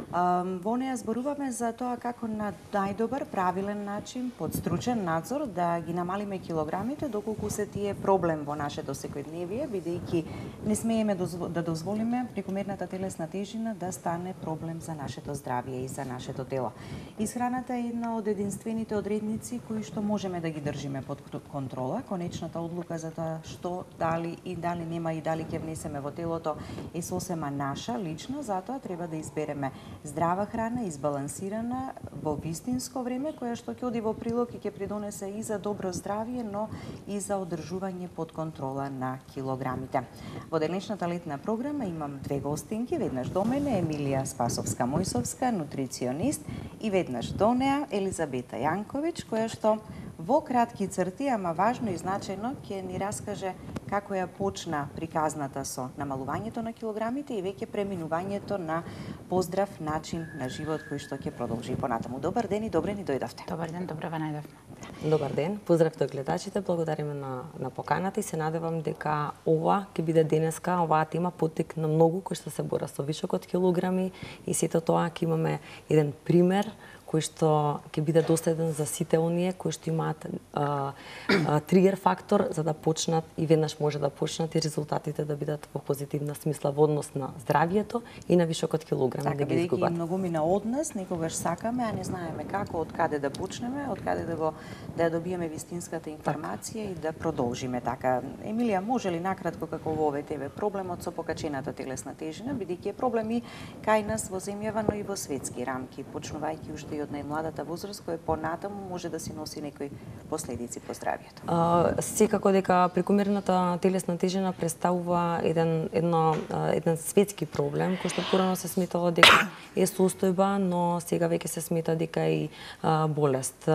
Во неја зборуваме за тоа како на најдобар, правилен начин, под стручен надзор да ги намалиме килограмите доколку се тие проблем во нашето секојдневие, бидејќи не смееме да дозволиме прекомерната телесна тежина да стане проблем за нашето здравје и за нашето тело. Исхраната е една од единствените одредници кои што можеме да ги држиме под контрола. Конечната одлука за тоа што, дали и дали нема и дали ќе внесеме во телото е сосема наша, лична, затоа треба да избереме здрава храна, избалансирана во вистинско време, која што ќе оди во прилог и ќе придонесе и за добро здравје, но и за одржување под контрола на килограмите. Во денешната летна програма имам две гостинки, веднаш до мене Емилија Спасовска-Мојсовска, нутриционист, и веднаш до неа Елизабета Јанковиќ, која што во кратки црти, ама важно и значајно, ќе ни раскаже како ја почна приказната со намалувањето на килограмите и веќе преминувањето на поздрав начин на живот кој што ќе продолжи понатаму. Добар ден и добре ни дојдовте. Добар ден, добре ве најдовме. Добар ден, поздрав до гледачите, благодариме на, на поканата и се надевам дека ова ќе биде денеска, оваа тема поттик на многу кои што се бора со вишок од килограми и сето тоа ќе имаме еден пример кој што ќе биде доследен за сите оние кои што имаат а, а, тригер фактор за да почнат и веднаш може да почнат и резултатите да бидат во позитивна смисла во однос на здравието и на вишокот килограми така, да ги изгубат. Така, многу мина од нас, некогаш сакаме, а не знаеме како, од каде да почнеме, од каде да го да ја добиеме вистинската информација так. И да продолжиме така. Емилија, може ли накратко како во овој тебе проблемот со покачената телесна тежина, бидејќи е проблем и кај нас во земјава, но и во светски рамки, почнувајќи уште и од најмладата возраст, која понатаму може да си носи некои последици по здравието. А, секако дека прекомерната телесна тежина представува еден едно еден светски проблем кој што порано се сметало дека е состојба, но сега веќе се смета дека и а, болест.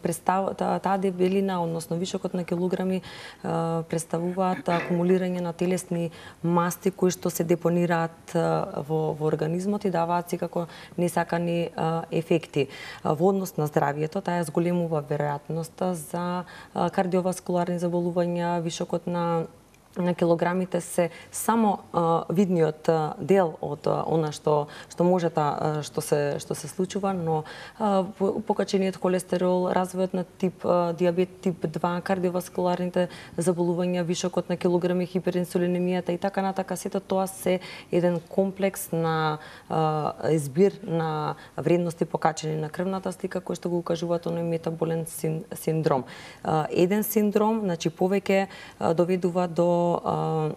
Представ таа дебелина, односно вишокот на килограми а, представуваат акумулирање на телесни масти кои што се депонираат а, во, во организмот и даваат секако несакани а, ефекти. Во однос на здравието, таа ја зголемува веројатноста за кардиоваскуларни заболувања, вишокот на на килограмите се само а, видниот а, дел од а, она што што може та што се што се случува, но а, покачениот холестерол, развојот на тип а, диабет тип два, кардиоваскуларните заболувања, вишокот на килограми, хиперинсулинемијата и така натака, сето тоа се еден комплекс на а, избир на вредности покачени на крвната слика кои што го укажуваат оној метаболен син, синдром. А, еден синдром, значи повеќе а, доведува до Uh,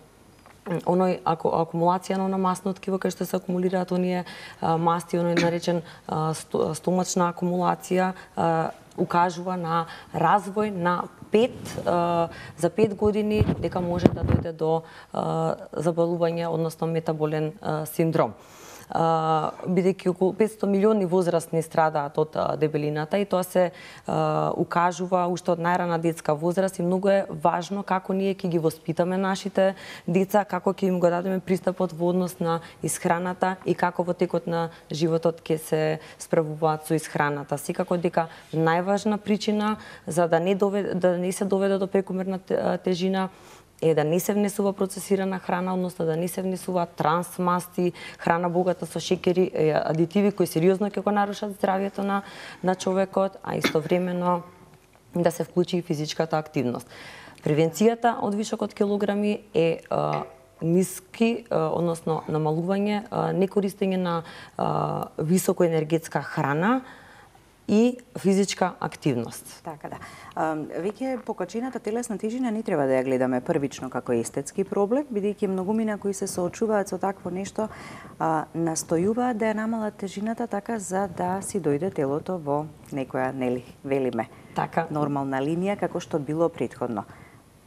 оној аку, акумулација на масно ткиво кај што се акумулираат оние uh, масти, оној наречен uh, стомачна акумулација, uh, укажува на развој на пет uh, за пет години дека може да дојде до uh, заболување, односно метаболен uh, синдром. Uh, бидејќи околу петстотини милиони возрастни страдаат од uh, дебелината и тоа се uh, укажува уште од најрана детска возраст и многу е важно како ние ќе ги воспитаме нашите деца, како ќе им го дадеме пристапот во однос на исхраната и како во текот на животот ќе се справуваат со исхраната. Секако дека најважна причина за да не доведе, да не се доведе до прекомерна тежина е да не се внесува процесирана храна, односно да не се внесува трансмасти, храна богата со шеќери, адитиви кои сериозно ќе го нарушат здравието на на човекот, а истовремено да се вклучи и физичката активност. Превенцијата од вишокот килограми е а, ниски, а, односно намалување, а, некористење на а, високоенергетска храна и физичка активност. Така да. Веќе покачената телесна тежина не треба да ја гледаме првично како естетски проблем, бидејќи многумина кои се соочуваат со такво нешто а, настојуваат да ја намалат тежината така за да си дојде телото во некоја, нели, велиме, така нормална линија како што било претходно.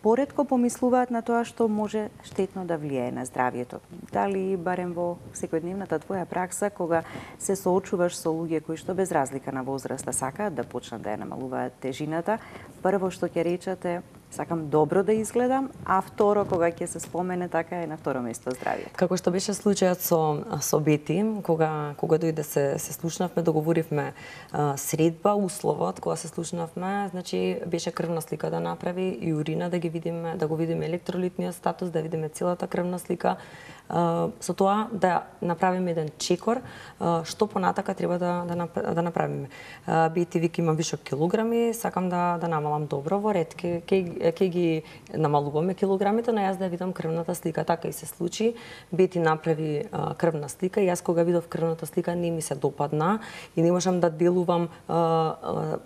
Поретко помислуваат на тоа што може штетно да влијае на здравието. Дали барем во секојдневната твоја пракса, кога се соочуваш со луѓе кои што без разлика на возраста сакаат да почнат да ја намалуваат тежината, прво што ќе речете, сакам добро да изгледам, а второ, кога ќе се спомене, така е на второ место здравието. Како што беше случајот со со Бети, кога кога дојде се се слушнавме, договоривме а, средба, условот кога се слушнавме, значи беше крвна слика да направи и урина да ги видиме, да го видиме електролитниот статус, да видиме целата крвна слика. Uh, со тоа да направиме еден чекор uh, што понатака треба да да, да направиме. Uh, Бети вика има вишок килограми, сакам да да намалам добро во ред, ке ке ке ги намалуваме килограмите, но јас да видам крвната слика. Така и се случи. Бети направи uh, крвна слика и јас кога видов крвната слика не ми се допадна и не можам да делувам uh, uh,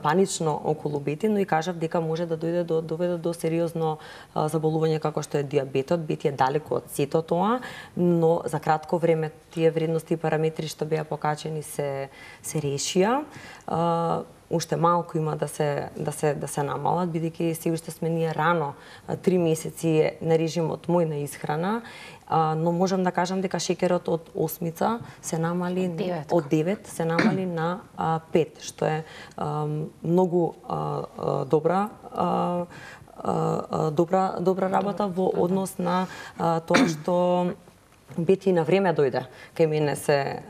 панично околу Бети, но и кажав дека може да дојде до доведе до сериозно а, заболување како што е диабетот. Бети е далеко од сето тоа, но за кратко време тие вредности и параметри што беа покачени се се решија. А, уште малку има да се да се да се намалат, бидејќи се уште сме ние рано, три месеци на режимот мој на исхрана, а, но можам да кажам дека шеќерот од осмица се намали девет. од девет се намали на а, пет, што е а, многу а, а, добра а, а, добра добра работа во однос на а, тоа што Бети на време дојде кај мене се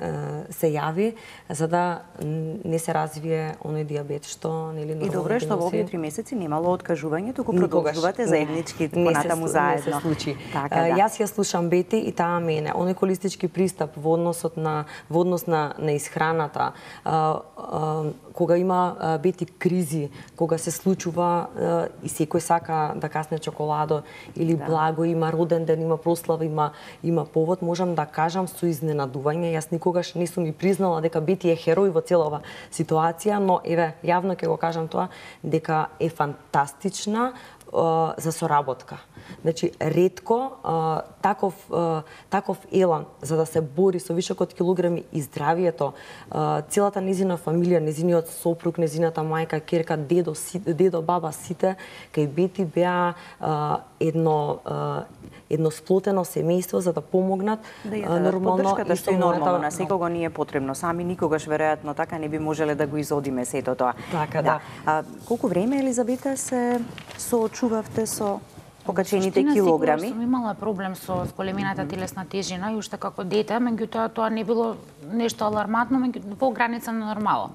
се јави за да не се развие оној диабет што нели И добро е што во овие три месеци немало откажување, туку продолжувате заеднички понатаму заедно. Не се случи. Така, да. Јас ја слушам Бети и таа мене. Оној холистички пристап во односот на во однос на на исхраната, а, а, кога има а, Бети кризи, кога се случува а, и секој сака да касне чоколадо или да. Благо има роден ден, има прослава, има има повод, можам да кажам со изненадување. Јас никогаш не сум и признала дека Бети е херој во целава ситуација, но еве јавно ќе го кажам тоа дека е фантастична uh, за соработка. Значи ретко uh, таков uh, таков елан за да се бори со вишок од килограми и здравието, uh, целата незина фамилија, незиниот сопруг, незината мајка, ќерка, дедо, си, дедо, баба, сите кај Бети беа uh, едно uh, едно сплотено семејство за да помогнат да ја дадат нормално поддршката што е нормално на секого ни е потребно. Сами никогаш веројатно така не би можеле да го изодиме сето тоа. Така да. А, колку време, Елизабета, се соочувавте со покачените килограми? Сум имала проблем со зголемината телесна тежина и уште како дете, меѓутоа тоа не било нешто алармантно, меѓу во граница на нормално.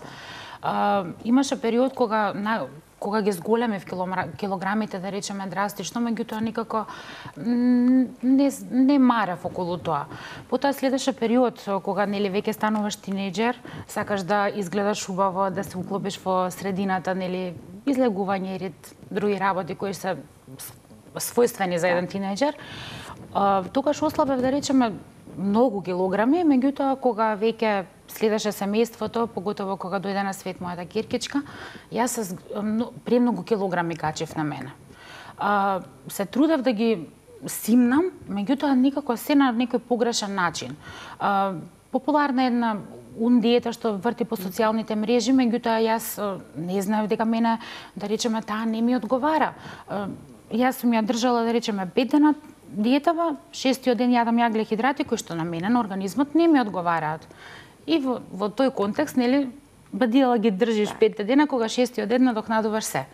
А, имаше период кога на кога ги зголемив килограмите, да речеме драстично, меѓутоа никако не, не марев околу тоа. Потоа следеше период кога нели веќе стануваш тинејџер, сакаш да изгледаш убаво, да се уклопиш во средината, нели излегување и ред други работи кои се својствени за еден тинејџер. Тогаш ослабев, да речеме, многу килограми, меѓутоа кога веќе следеше семејството, поготово кога дојде на свет мојата ќеркичка, јас се премногу килограми качев на мене. А, се трудев да ги симнам, меѓутоа никако се на некој погрешен начин. А, популарна е една ун диета што врти по социјалните мрежи, меѓутоа јас не знаев дека мене, да речеме, таа не ми одговара. А, јас сум ја држала, да речеме, пет дена диетава, шестиот ден јадам јаглехидрати кои што на мене на организмот не ми одговараат. И во, во тој контекст, нели, бадила ги држиш да. пет дена, кога шестиот ден надокнадуваш се.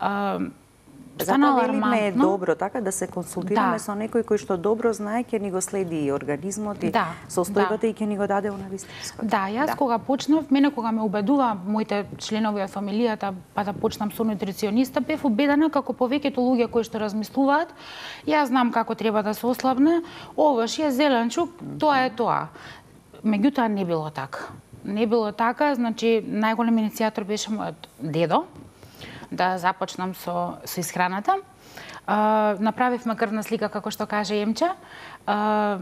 Да. Затоа велиме е добро така да се консултираме да. со некој кој што добро знае, ќе ни го следи и организмот и да. состојбата да. и ќе ни го даде на вистинско. Да, јас да. кога почнав, мене кога ме убедува моите членови од фамилијата па да почнам со нутрициониста, бев убедена како повеќето луѓе кои што размислуваат, јас знам како треба да се ослабне, овош е зеленчук, тоа е тоа. Меѓутоа не било така. Не било така, значи најголем иницијатор беше мојот дедо да започнам со со исхраната. А, направивме крвна слика како што каже Емче. А,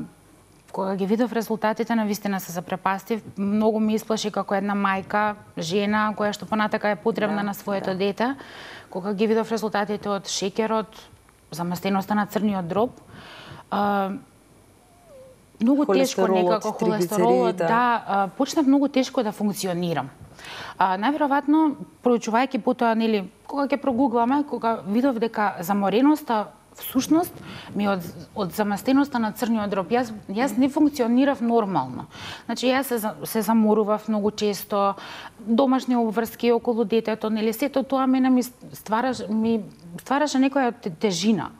кога ги видов резултатите, навистина се запрепастив. Многу ми исплаши како една мајка, жена која што понатака е потребна да, на своето да. дете. Кога ги видов резултатите од шеќерот, заместеноста на црниот дроб, а, многу тешко некако холестеролот, да, почнав многу тешко да функционирам. А, најверојатно, проучувајќи потоа, нели, кога ќе прогугламе, кога видов дека замореноста всушност ми од од заместеноста на црниот дроб, јас јас не функционирав нормално. Значи јас се се заморував многу често, домашни обврски околу детето, нели, сето тоа мене ми ствараше ми ствараше некоја тежина.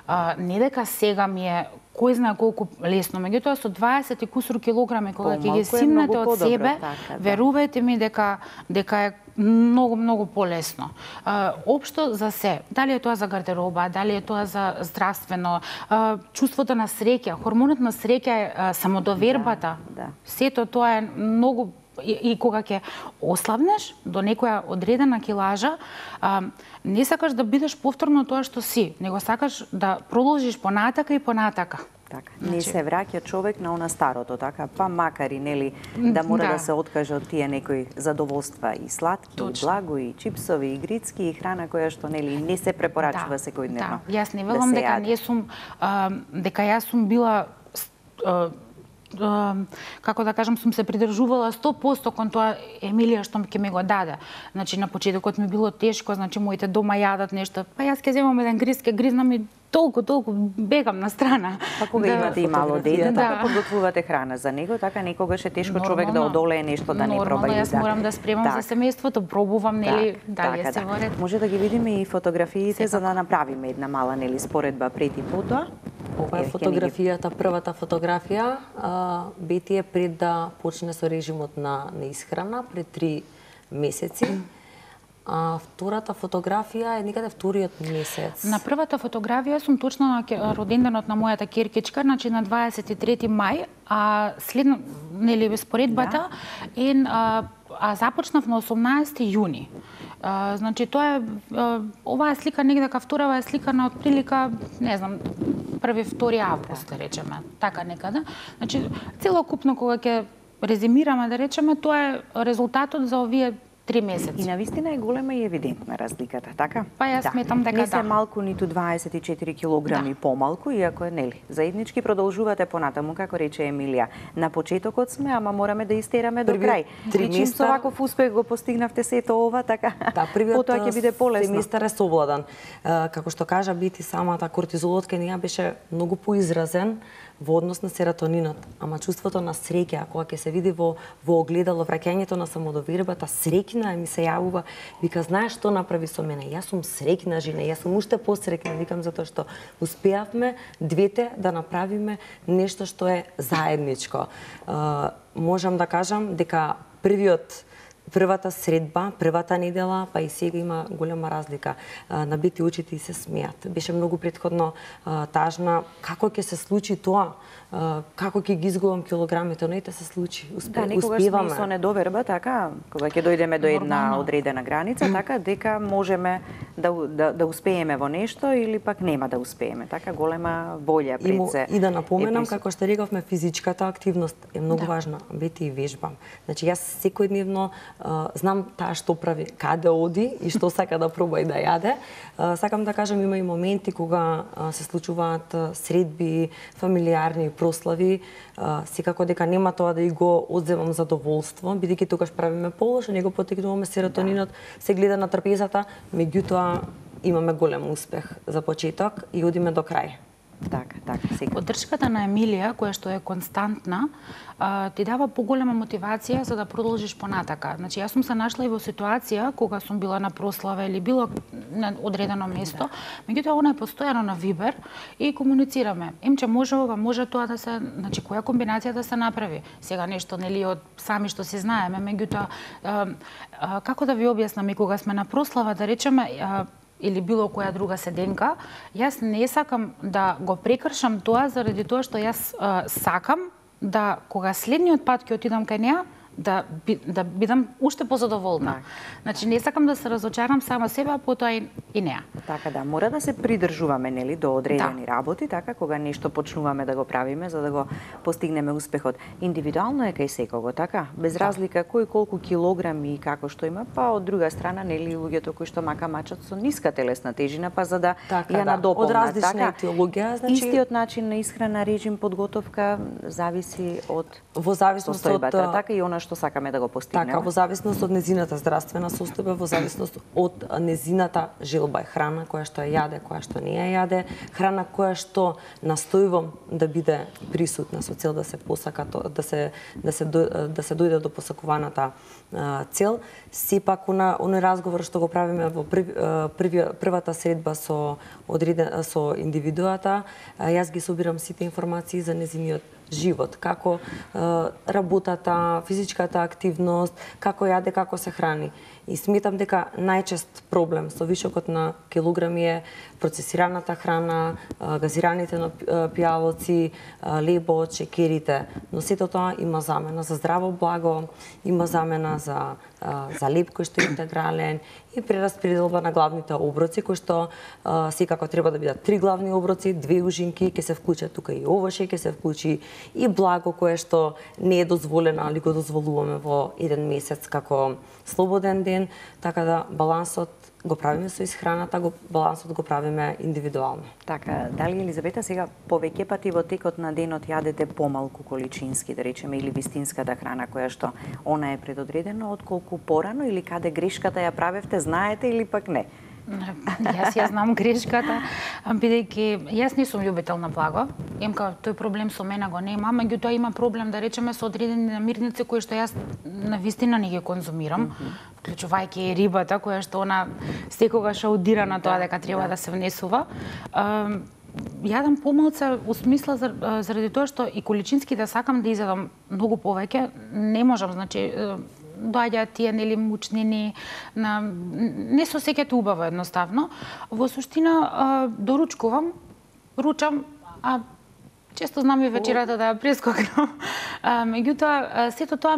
А, не дека сега ми е кој знае колку лесно, меѓутоа со дваесет и кусур килограми кога ќе ги симнете од себе, така, да. верувајте ми дека дека е многу многу полесно. А, општо за се, дали е тоа за гардероба, дали е тоа за здравствено, а, чувството на среќа, хормонот на среќа е а, самодовербата. Да, да. Сето тоа е многу И, и кога ќе ослабнеш до некоја одредена килажа, а, не сакаш да бидеш повторно тоа што си, него сакаш да продолжиш понатака и понатака. Така, значи... не се враќа човек на она старото, така, па макар и нели да мора да, да се откаже од тие некои задоволства и сладки, Точно. и благо, и чипсови, и грицки, и храна која што нели не се препорачува да, секојдневно. Да, јас не велам да дека не сум а, дека јас сум била а, како да кажам, сум се придржувала сто проценти кон тоа Емилија што ќе ми го даде. Значи на почетокот ми било тешко, значи моите дома јадат нешто, па јас ќе земам еден гриз, ке гризнам и толку толку бегам на страна. Па кога да, имате и мало дете, да. така подготвувате храна за него, така некогаш е тешко нормално, човек да одолее нешто да не проба и да. Јас морам да спремам так. за семејството, пробувам нели дали така, се да. Може да ги видиме и фотографиите Сепак. за да направиме една мала нели споредба пред и потоа. Ова е фотографијата, првата фотографија. Бети е пред да почне со режимот на, на исхрана, пред три месеци. А втората фотографија е некаде вториот месец. На првата фотографија сум точно на роденденот на мојата керкичка, значи на дваесет и трети мај, а следно, нели споредбата, да. е, а, а започнав на осумнаесети јуни. А, значи тоа е, а, оваа слика негдека вторава е слика на отприлика, не знам, први втори август, да речеме, така некаде. Значи целокупно кога ќе резимираме, да речеме, тоа е резултатот за овие три месеци. И навистина е голема и евидентна разликата, така? Па јас да. сметам дека да. Не се малку ниту дваесет и четири килограми да. помалку, иако е, нели, заеднички продолжувате понатаму, како рече Емилија. На почетокот сме, ама мораме да истераме до крај. Три чим со ваков успех го постигнавте сето ова, така? Да, првиот потоа ќе биде полесно. Семестар е совладан. Како што кажа Бити, самата кортизолот кај неа беше многу поизразен во однос на серотонинот, ама чувството на среќа, кога ќе се види во во огледало, враќањето на самодовербата, среќна ми се јавува, вика, знаеш што направи со мене? Јас сум среќна жена, јас сум уште посреќна, викам, затоа што успеавме двете да направиме нешто што е заедничко. Uh, можам да кажам дека првиот Првата средба, првата недела, па и сега има голема разлика. На Бити очите и се смеат. Беше многу претходно тажна. Како ќе се случи тоа? Како ќе ги изгубам килограмите? Но ете се случи. Успе, да, некогаш успеваме. сме со недоверба, така, кога ќе дојдеме до една Нормално. одредена граница, така, дека можеме да, да, да успееме во нешто или пак нема да успееме. Така, голема волја пред се. И да напоменам, како што рековме, физичката активност е многу да. важна. Бети и вежбам. Значи, јас секојдневно Uh, знам таа што прави, каде оди и што сака да проба и да јаде. Uh, сакам да кажам, има и моменти кога uh, се случуваат uh, средби, фамилиарни прослави, uh, секако дека нема тоа да и го одземам задоволство, бидејќи тогаш правиме полошо, него потекнуваме серотонинот, да. се гледа на трпезата, меѓутоа имаме голем успех за почеток и одиме до крај. Така, така, сега. Поддршката на Емилија, која што е константна, ти дава поголема мотивација за да продолжиш понатака. Значи, јас сум се нашла и во ситуација кога сум била на прослава или било на одредено место, да. меѓутоа она е постојано на Вибер и комуницираме. Емче може ова, може тоа да се, значи која комбинација да се направи. Сега нешто нели од сами што се знаеме, меѓутоа како да ви објаснам, и кога сме на прослава, да речеме, или било која друга седенка, јас не сакам да го прекршам тоа заради тоа што јас а, сакам да кога следниот пат ќе отидам кај неа, да, би, да бидам уште позадоволна. Так. Значи, не сакам да се разочарам сама себе, а потоа и, и неа. Така да, мора да се придржуваме, нели, до одредени да. работи, така, кога нешто почнуваме да го правиме, за да го постигнеме успехот. Индивидуално е кај секого, така? Без да. разлика кој колку килограми и како што има, па од друга страна, нели, луѓето кои што мака мачат со ниска телесна тежина, па за да така, ја да. надополнат. Од различна така, етиологија, значи... Истиот начин на исхрана, режим, подготовка, зависи од во зависност состојбата, од... така и она што сакаме да го постигнеме. Така, во зависност од незината здравствена состојба, во зависност од незината желба е храна која што ја јаде, која што не ја јаде, храна која што настојувам да биде присутна со цел да се посака, да се да се да се дојде до посакуваната цел. Сепак на оној разговор што го правиме во прв, први, првата средба со одреден со индивидуата, јас ги собирам сите информации за незиниот живот, како е, работата, физичката активност, како јаде, како се храни. И сметам дека најчест проблем со вишокот на килограми е процесираната храна, газираните пијалоци, лебо, чекерите. Но сето тоа има замена за здраво благо, има замена за за леб кој што е интегрален и прераспределба на главните оброци кои што а, секако треба да бидат три главни оброци, две ужинки, ќе се вклучат тука и овошје, ќе се вклучи и благо кое што не е дозволено, али го дозволуваме во еден месец како слободен ден, така да балансот го правиме со исхраната, го балансот го правиме индивидуално. Така, дали Елизабета сега повеќе пати во текот на денот јадете помалку количински, да речеме, или вистинската храна која што она е предодредено, отколку порано, или каде грешката ја правевте, знаете или пак не? Јас ја знам грешката, бидејќи јас не сум љубител на благо. Емка тој проблем со мене го нема, меѓутоа има проблем да речеме со одредени намирници кои што јас на вистина не ги конзумирам, вклучувајќи и рибата која што она секогаш аудира на тоа дека треба да се внесува. јадам помалце у смисла заради тоа што и количински да сакам да изедам многу повеќе, не можам, значи доаѓаат тие нели мучнини, на не се осеќате убаво едноставно. Во суштина доручкувам, ручам, а често знам и вечерата да ја прескокнам. Меѓутоа, сето тоа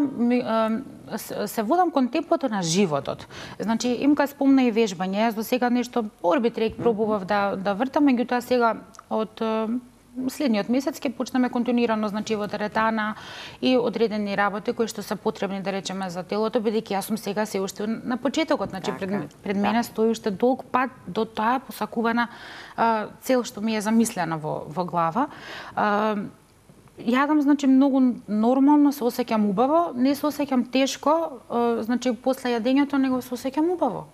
се водам кон темпото на животот. Значи, имка спомна и вежбање. Јас до сега нешто орбитрек пробував да, да вртам, меѓутоа сега од следниот месец ќе почнеме континуирано, значи во теретана и одредени работи кои што се потребни, да речеме, за телото, бидејќи јас сум сега се уште на почетокот, значи пред, пред мене стои уште долг пат до таа посакувана а, цел што ми е замислена во, во глава. А, Јадам, значи, многу нормално, се осеќам убаво, не се осеќам тешко, значи, после јадењето него се осеќам убаво.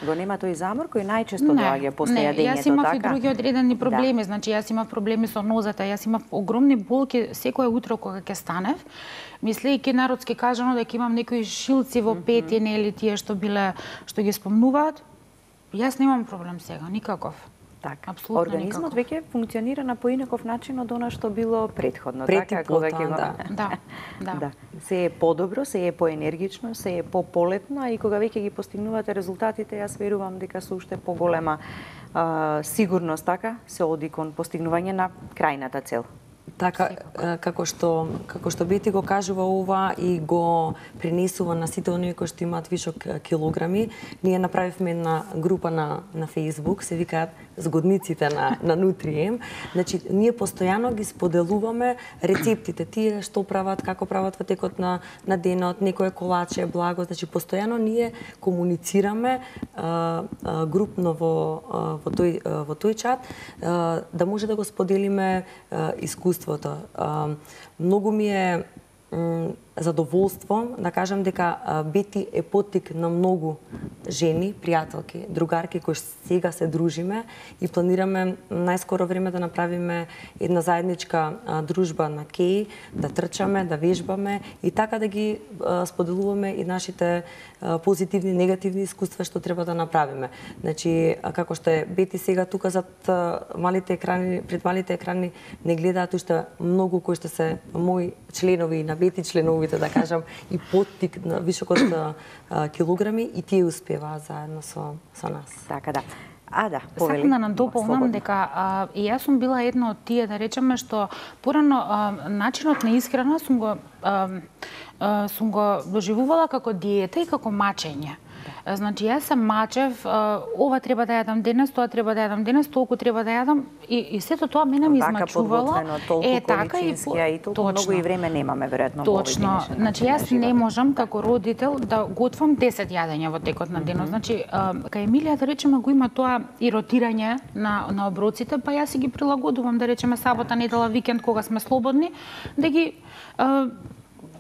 Го нема тој замор кој најчесто доаѓа после јадењето, така? Не, јас имав и други одредени проблеми, значи, јас имав проблеми со нозата, јас имав огромни болки секое утро кога ќе станев, мислејќи народски кажано дека имам некои шилци во пети, нели тие што биле, што ги спомнуваат, јас немам проблем сега, никаков. Така. Организмот веќе функционира на поинаков начин од она што било предходно, така, кога ќе го... Да, да, да. да. Се е подобро, се е поенергично, се е пополетно, и кога веќе ги постигнувате резултатите, јас верувам дека со уште поголема а, сигурност, така, се оди кон постигнување на крајната цел. Така, како што, како што Бети го кажува ова и го пренесува на сите оние кои што имаат вишок килограми, ние направивме една група на, на Facebook, се викаат Згодниците на, на Нутрием. Значи, ние постојано ги споделуваме рецептите, тие што прават, како прават во текот на, на денот, некое колаче, благо, значи, постојано ние комуницираме а, а, групно во, а, во, тој, а, во тој чат, а, да може да го споделиме а, искуството. А, многу ми е задоволство да кажам дека Бети е поттик на многу жени, пријателки, другарки кои сега се дружиме и планираме најскоро време да направиме една заедничка дружба на кеј, да трчаме, да вежбаме и така да ги споделуваме и нашите позитивни, негативни искуства што треба да направиме. Значи, како што е Бети сега тука зад малите екрани, пред малите екрани не гледаат уште многу кои што се мои членови на Бети членовите, да кажам, и поттик на вишокот на килограми, и тие успеваат заедно со, со нас. Така да. А, да, повели. Сакам да надополнам дека а, и јас сум била една од тие, да речеме, што порано а, начинот на исхрана сум го, а, а, сум го доживувала како диета и како мачење. Значи, јас се мачев, ова треба да јадам денес, тоа треба да јадам денес, толку треба да јадам, и, и сето тоа мене ми измачувало. Е, така и и толку многу и време немаме, веројатно. Точно. Значи, јас не можам како родител да готвам десет јадења во текот на денот. Значи, кај Емилија, да речеме, го има тоа и ротирање на, на оброците, па јас си ги прилагодувам, да речеме, сабота, недела, викенд, кога сме слободни, да ги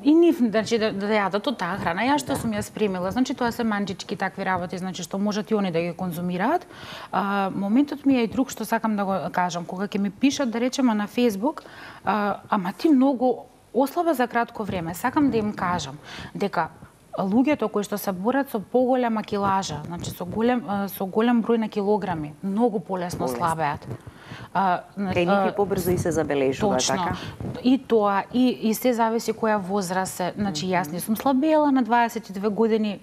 и нив, значи, да, да јадат од таа храна, ја што сум ја спремила. Значи, тоа се манџички такви работи, значи, што можат и они да ги конзумираат. А, моментот ми е и друг што сакам да го кажам. Кога ќе ми пишат, да речеме, на Facebook, а, ама ти многу ослаба за кратко време, сакам да им кажам дека луѓето кои што се борат со поголема килажа, значи со голем, со голем број на килограми, многу полесно слабеат. Кај нив и побрзо и се забележува, точно. Така? И тоа, и, и се зависи која возраст е. Значи, јас не сум слабела на дваесет и две години,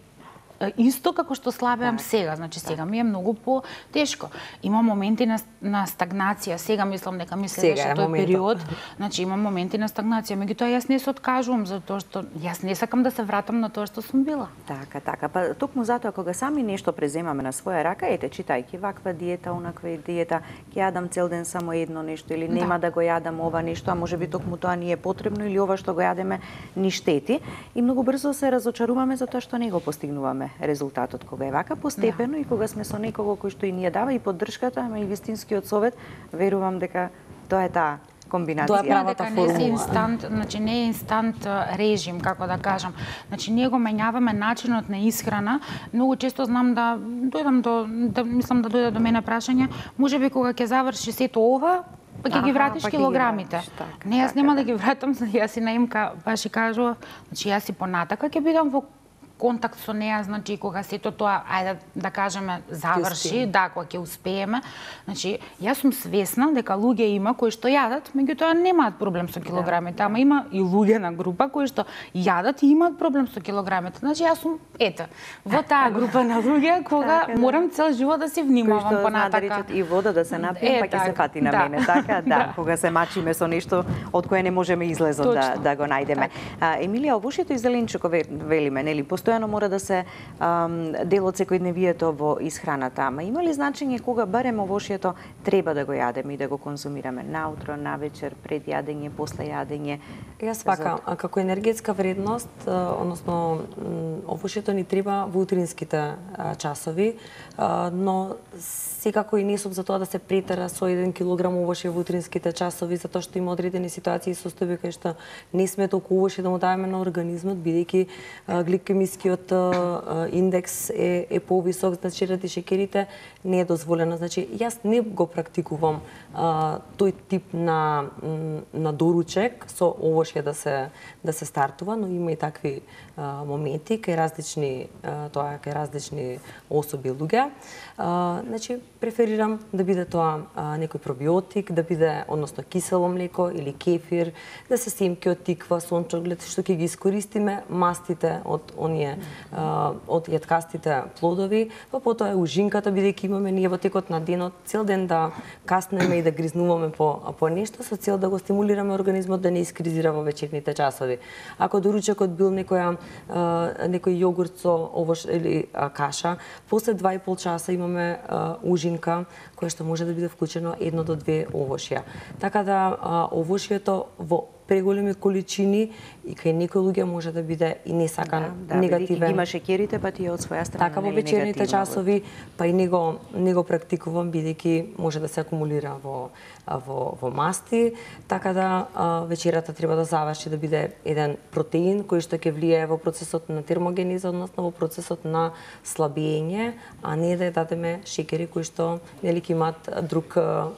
исто како што слабеам так, сега, значи сега ми е многу по-тешко. Има моменти на, на стагнација, сега мислам дека ми следеше тој период, значи има моменти на стагнација, меѓутоа јас не се откажувам затоа што јас не сакам да се вратам на тоа што сум била. Така, така, па токму затоа кога сами нешто преземаме на своја рака, ете, читајќи ваква диета, онаква диета, ќе јадам цел ден само едно нешто или нема да, да го јадам ова нешто, а можеби токму тоа ни е потребно или ова што го јадеме ни штети, и многу брзо се разочаруваме затоа што не го постигнуваме резултатот. Кога е вака постепено, да, и кога сме со некого кој што и ни ја дава и поддршката, ама и вистинскиот совет, верувам дека тоа е таа комбинација. Тоа е правата формула. Не е инстант, значи не е инстант режим, како да кажам. Значи ние го менјаваме начинот на исхрана. Многу често знам да дојдам до, да мислам да дојде до мене прашање, можеби кога ќе заврши сето ова, па ќе ги вратиш па килограмите. Ги вратиш, така, не, јас така, нема да ги вратам, јас и наимка баш и кажува, значи јас и понатака ќе бидам во контакт со неа, значи кога сето тоа, ајде да кажеме, заврши, да, кога ќе успееме. Значи, јас сум свесна дека луѓе има кои што јадат, меѓутоа немаат проблем со килограмите, ама има и луѓе на група кои што јадат и имаат проблем со килограмите. Значи, јас сум, ете, во таа група на луѓе кога морам цел живот да се внимавам понатака. Кои што знаат да речат и вода да се напием, па ќе се фати на мене, така? Да, кога се мачиме со нешто од кое не можеме излезот да, да го најдеме. А, Емилија, овошјето и зеленчуко велиме, нели, постојано мора да се ам, дел од секојдневието во исхраната, ама има ли значење кога барем овошјето треба да го јадеме и да го конзумираме наутро, навечер, пред јадење, после јадење? Јас вака, за... како енергетска вредност, односно овошјето ни треба во утринските часови, но секако и не сум за тоа да се претера со еден килограм овошје во утринските часови, затоа што има одредени ситуации и состојби кај што не сме толку овошје да му даваме на организмот, бидејќи гликемискиот индекс е, е повисок, значи ради шеќерите не е дозволено. Значи, јас не го практикувам а, тој тип на, на доручек со овошје да се, да се стартува, но има и такви а, моменти кај различни, а, тоа кај различни особи луѓе. А, значи, преферирам да биде тоа а, некој пробиотик, да биде, односно, кисело млеко или кефир, да се семки од тиква, сончоглед, што ќе ги искористиме мастите од оние, а, од јаткастите плодови, па потоа е ужинката, бидејќи имаме ние во текот на денот цел ден да каснеме и да гризнуваме по, по нешто, со цел да го стимулираме организмот да не искризира во вечерните часови. Ако доручекот бил некоја, а, некој јогурт со овош или а, каша, после два и пол часа имаме а, ужинка која што може да биде вклучено едно до две овошја. Така да а, овошјето во преголеми количини и кај некои луѓе може да биде и не сакан да, да, негативен. Има шеќерите, па ти од своја страна така во вечерните часови, па и него не го практикувам бидејќи може да се акумулира во во во масти, така да а, вечерата треба да заврши да биде еден протеин кој што ќе влијае во процесот на термогенеза, односно во процесот на слабење, а не да ја дадеме шеќери кои што нели ќе имаат друг а,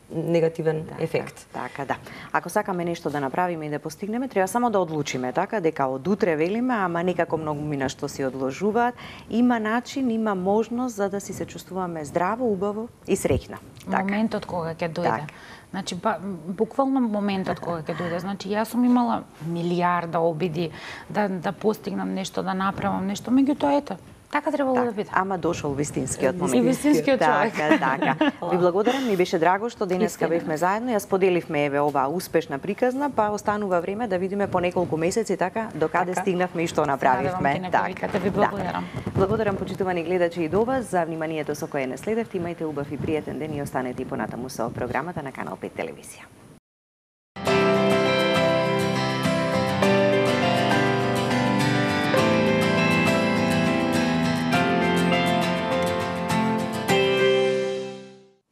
негативен така, ефект. Така, да. Ако сакаме нешто да направиме и да постигнеме, треба само да одлучиме, така, дека од утре велиме, ама некако многу мина што си одложуваат. Има начин, има можност за да си се чувствуваме здраво, убаво и среќна. Така. Моментот кога ќе дојде. Так. Значи, ба, буквално моментот кога ќе дојде. Значи, јас сум имала милиарда обиди да, да постигнам нешто, да направам нешто, меѓутоа ето, така требало так, да биде. Ама дошол вистинскиот момент. И вистинскиот човек. Така, така. Ви благодарам, ми беше драго што денеска бевме заедно, ја споделивме еве оваа успешна приказна, па останува време да видиме по неколку месеци така до каде така стигнавме и што направивме. Така. Ви благодарам. Да. Благодарам почитувани гледачи и до вас за вниманието со кое не следевте. Имајте убав и пријатен ден и останете и понатаму со програмата на Канал пет телевизија.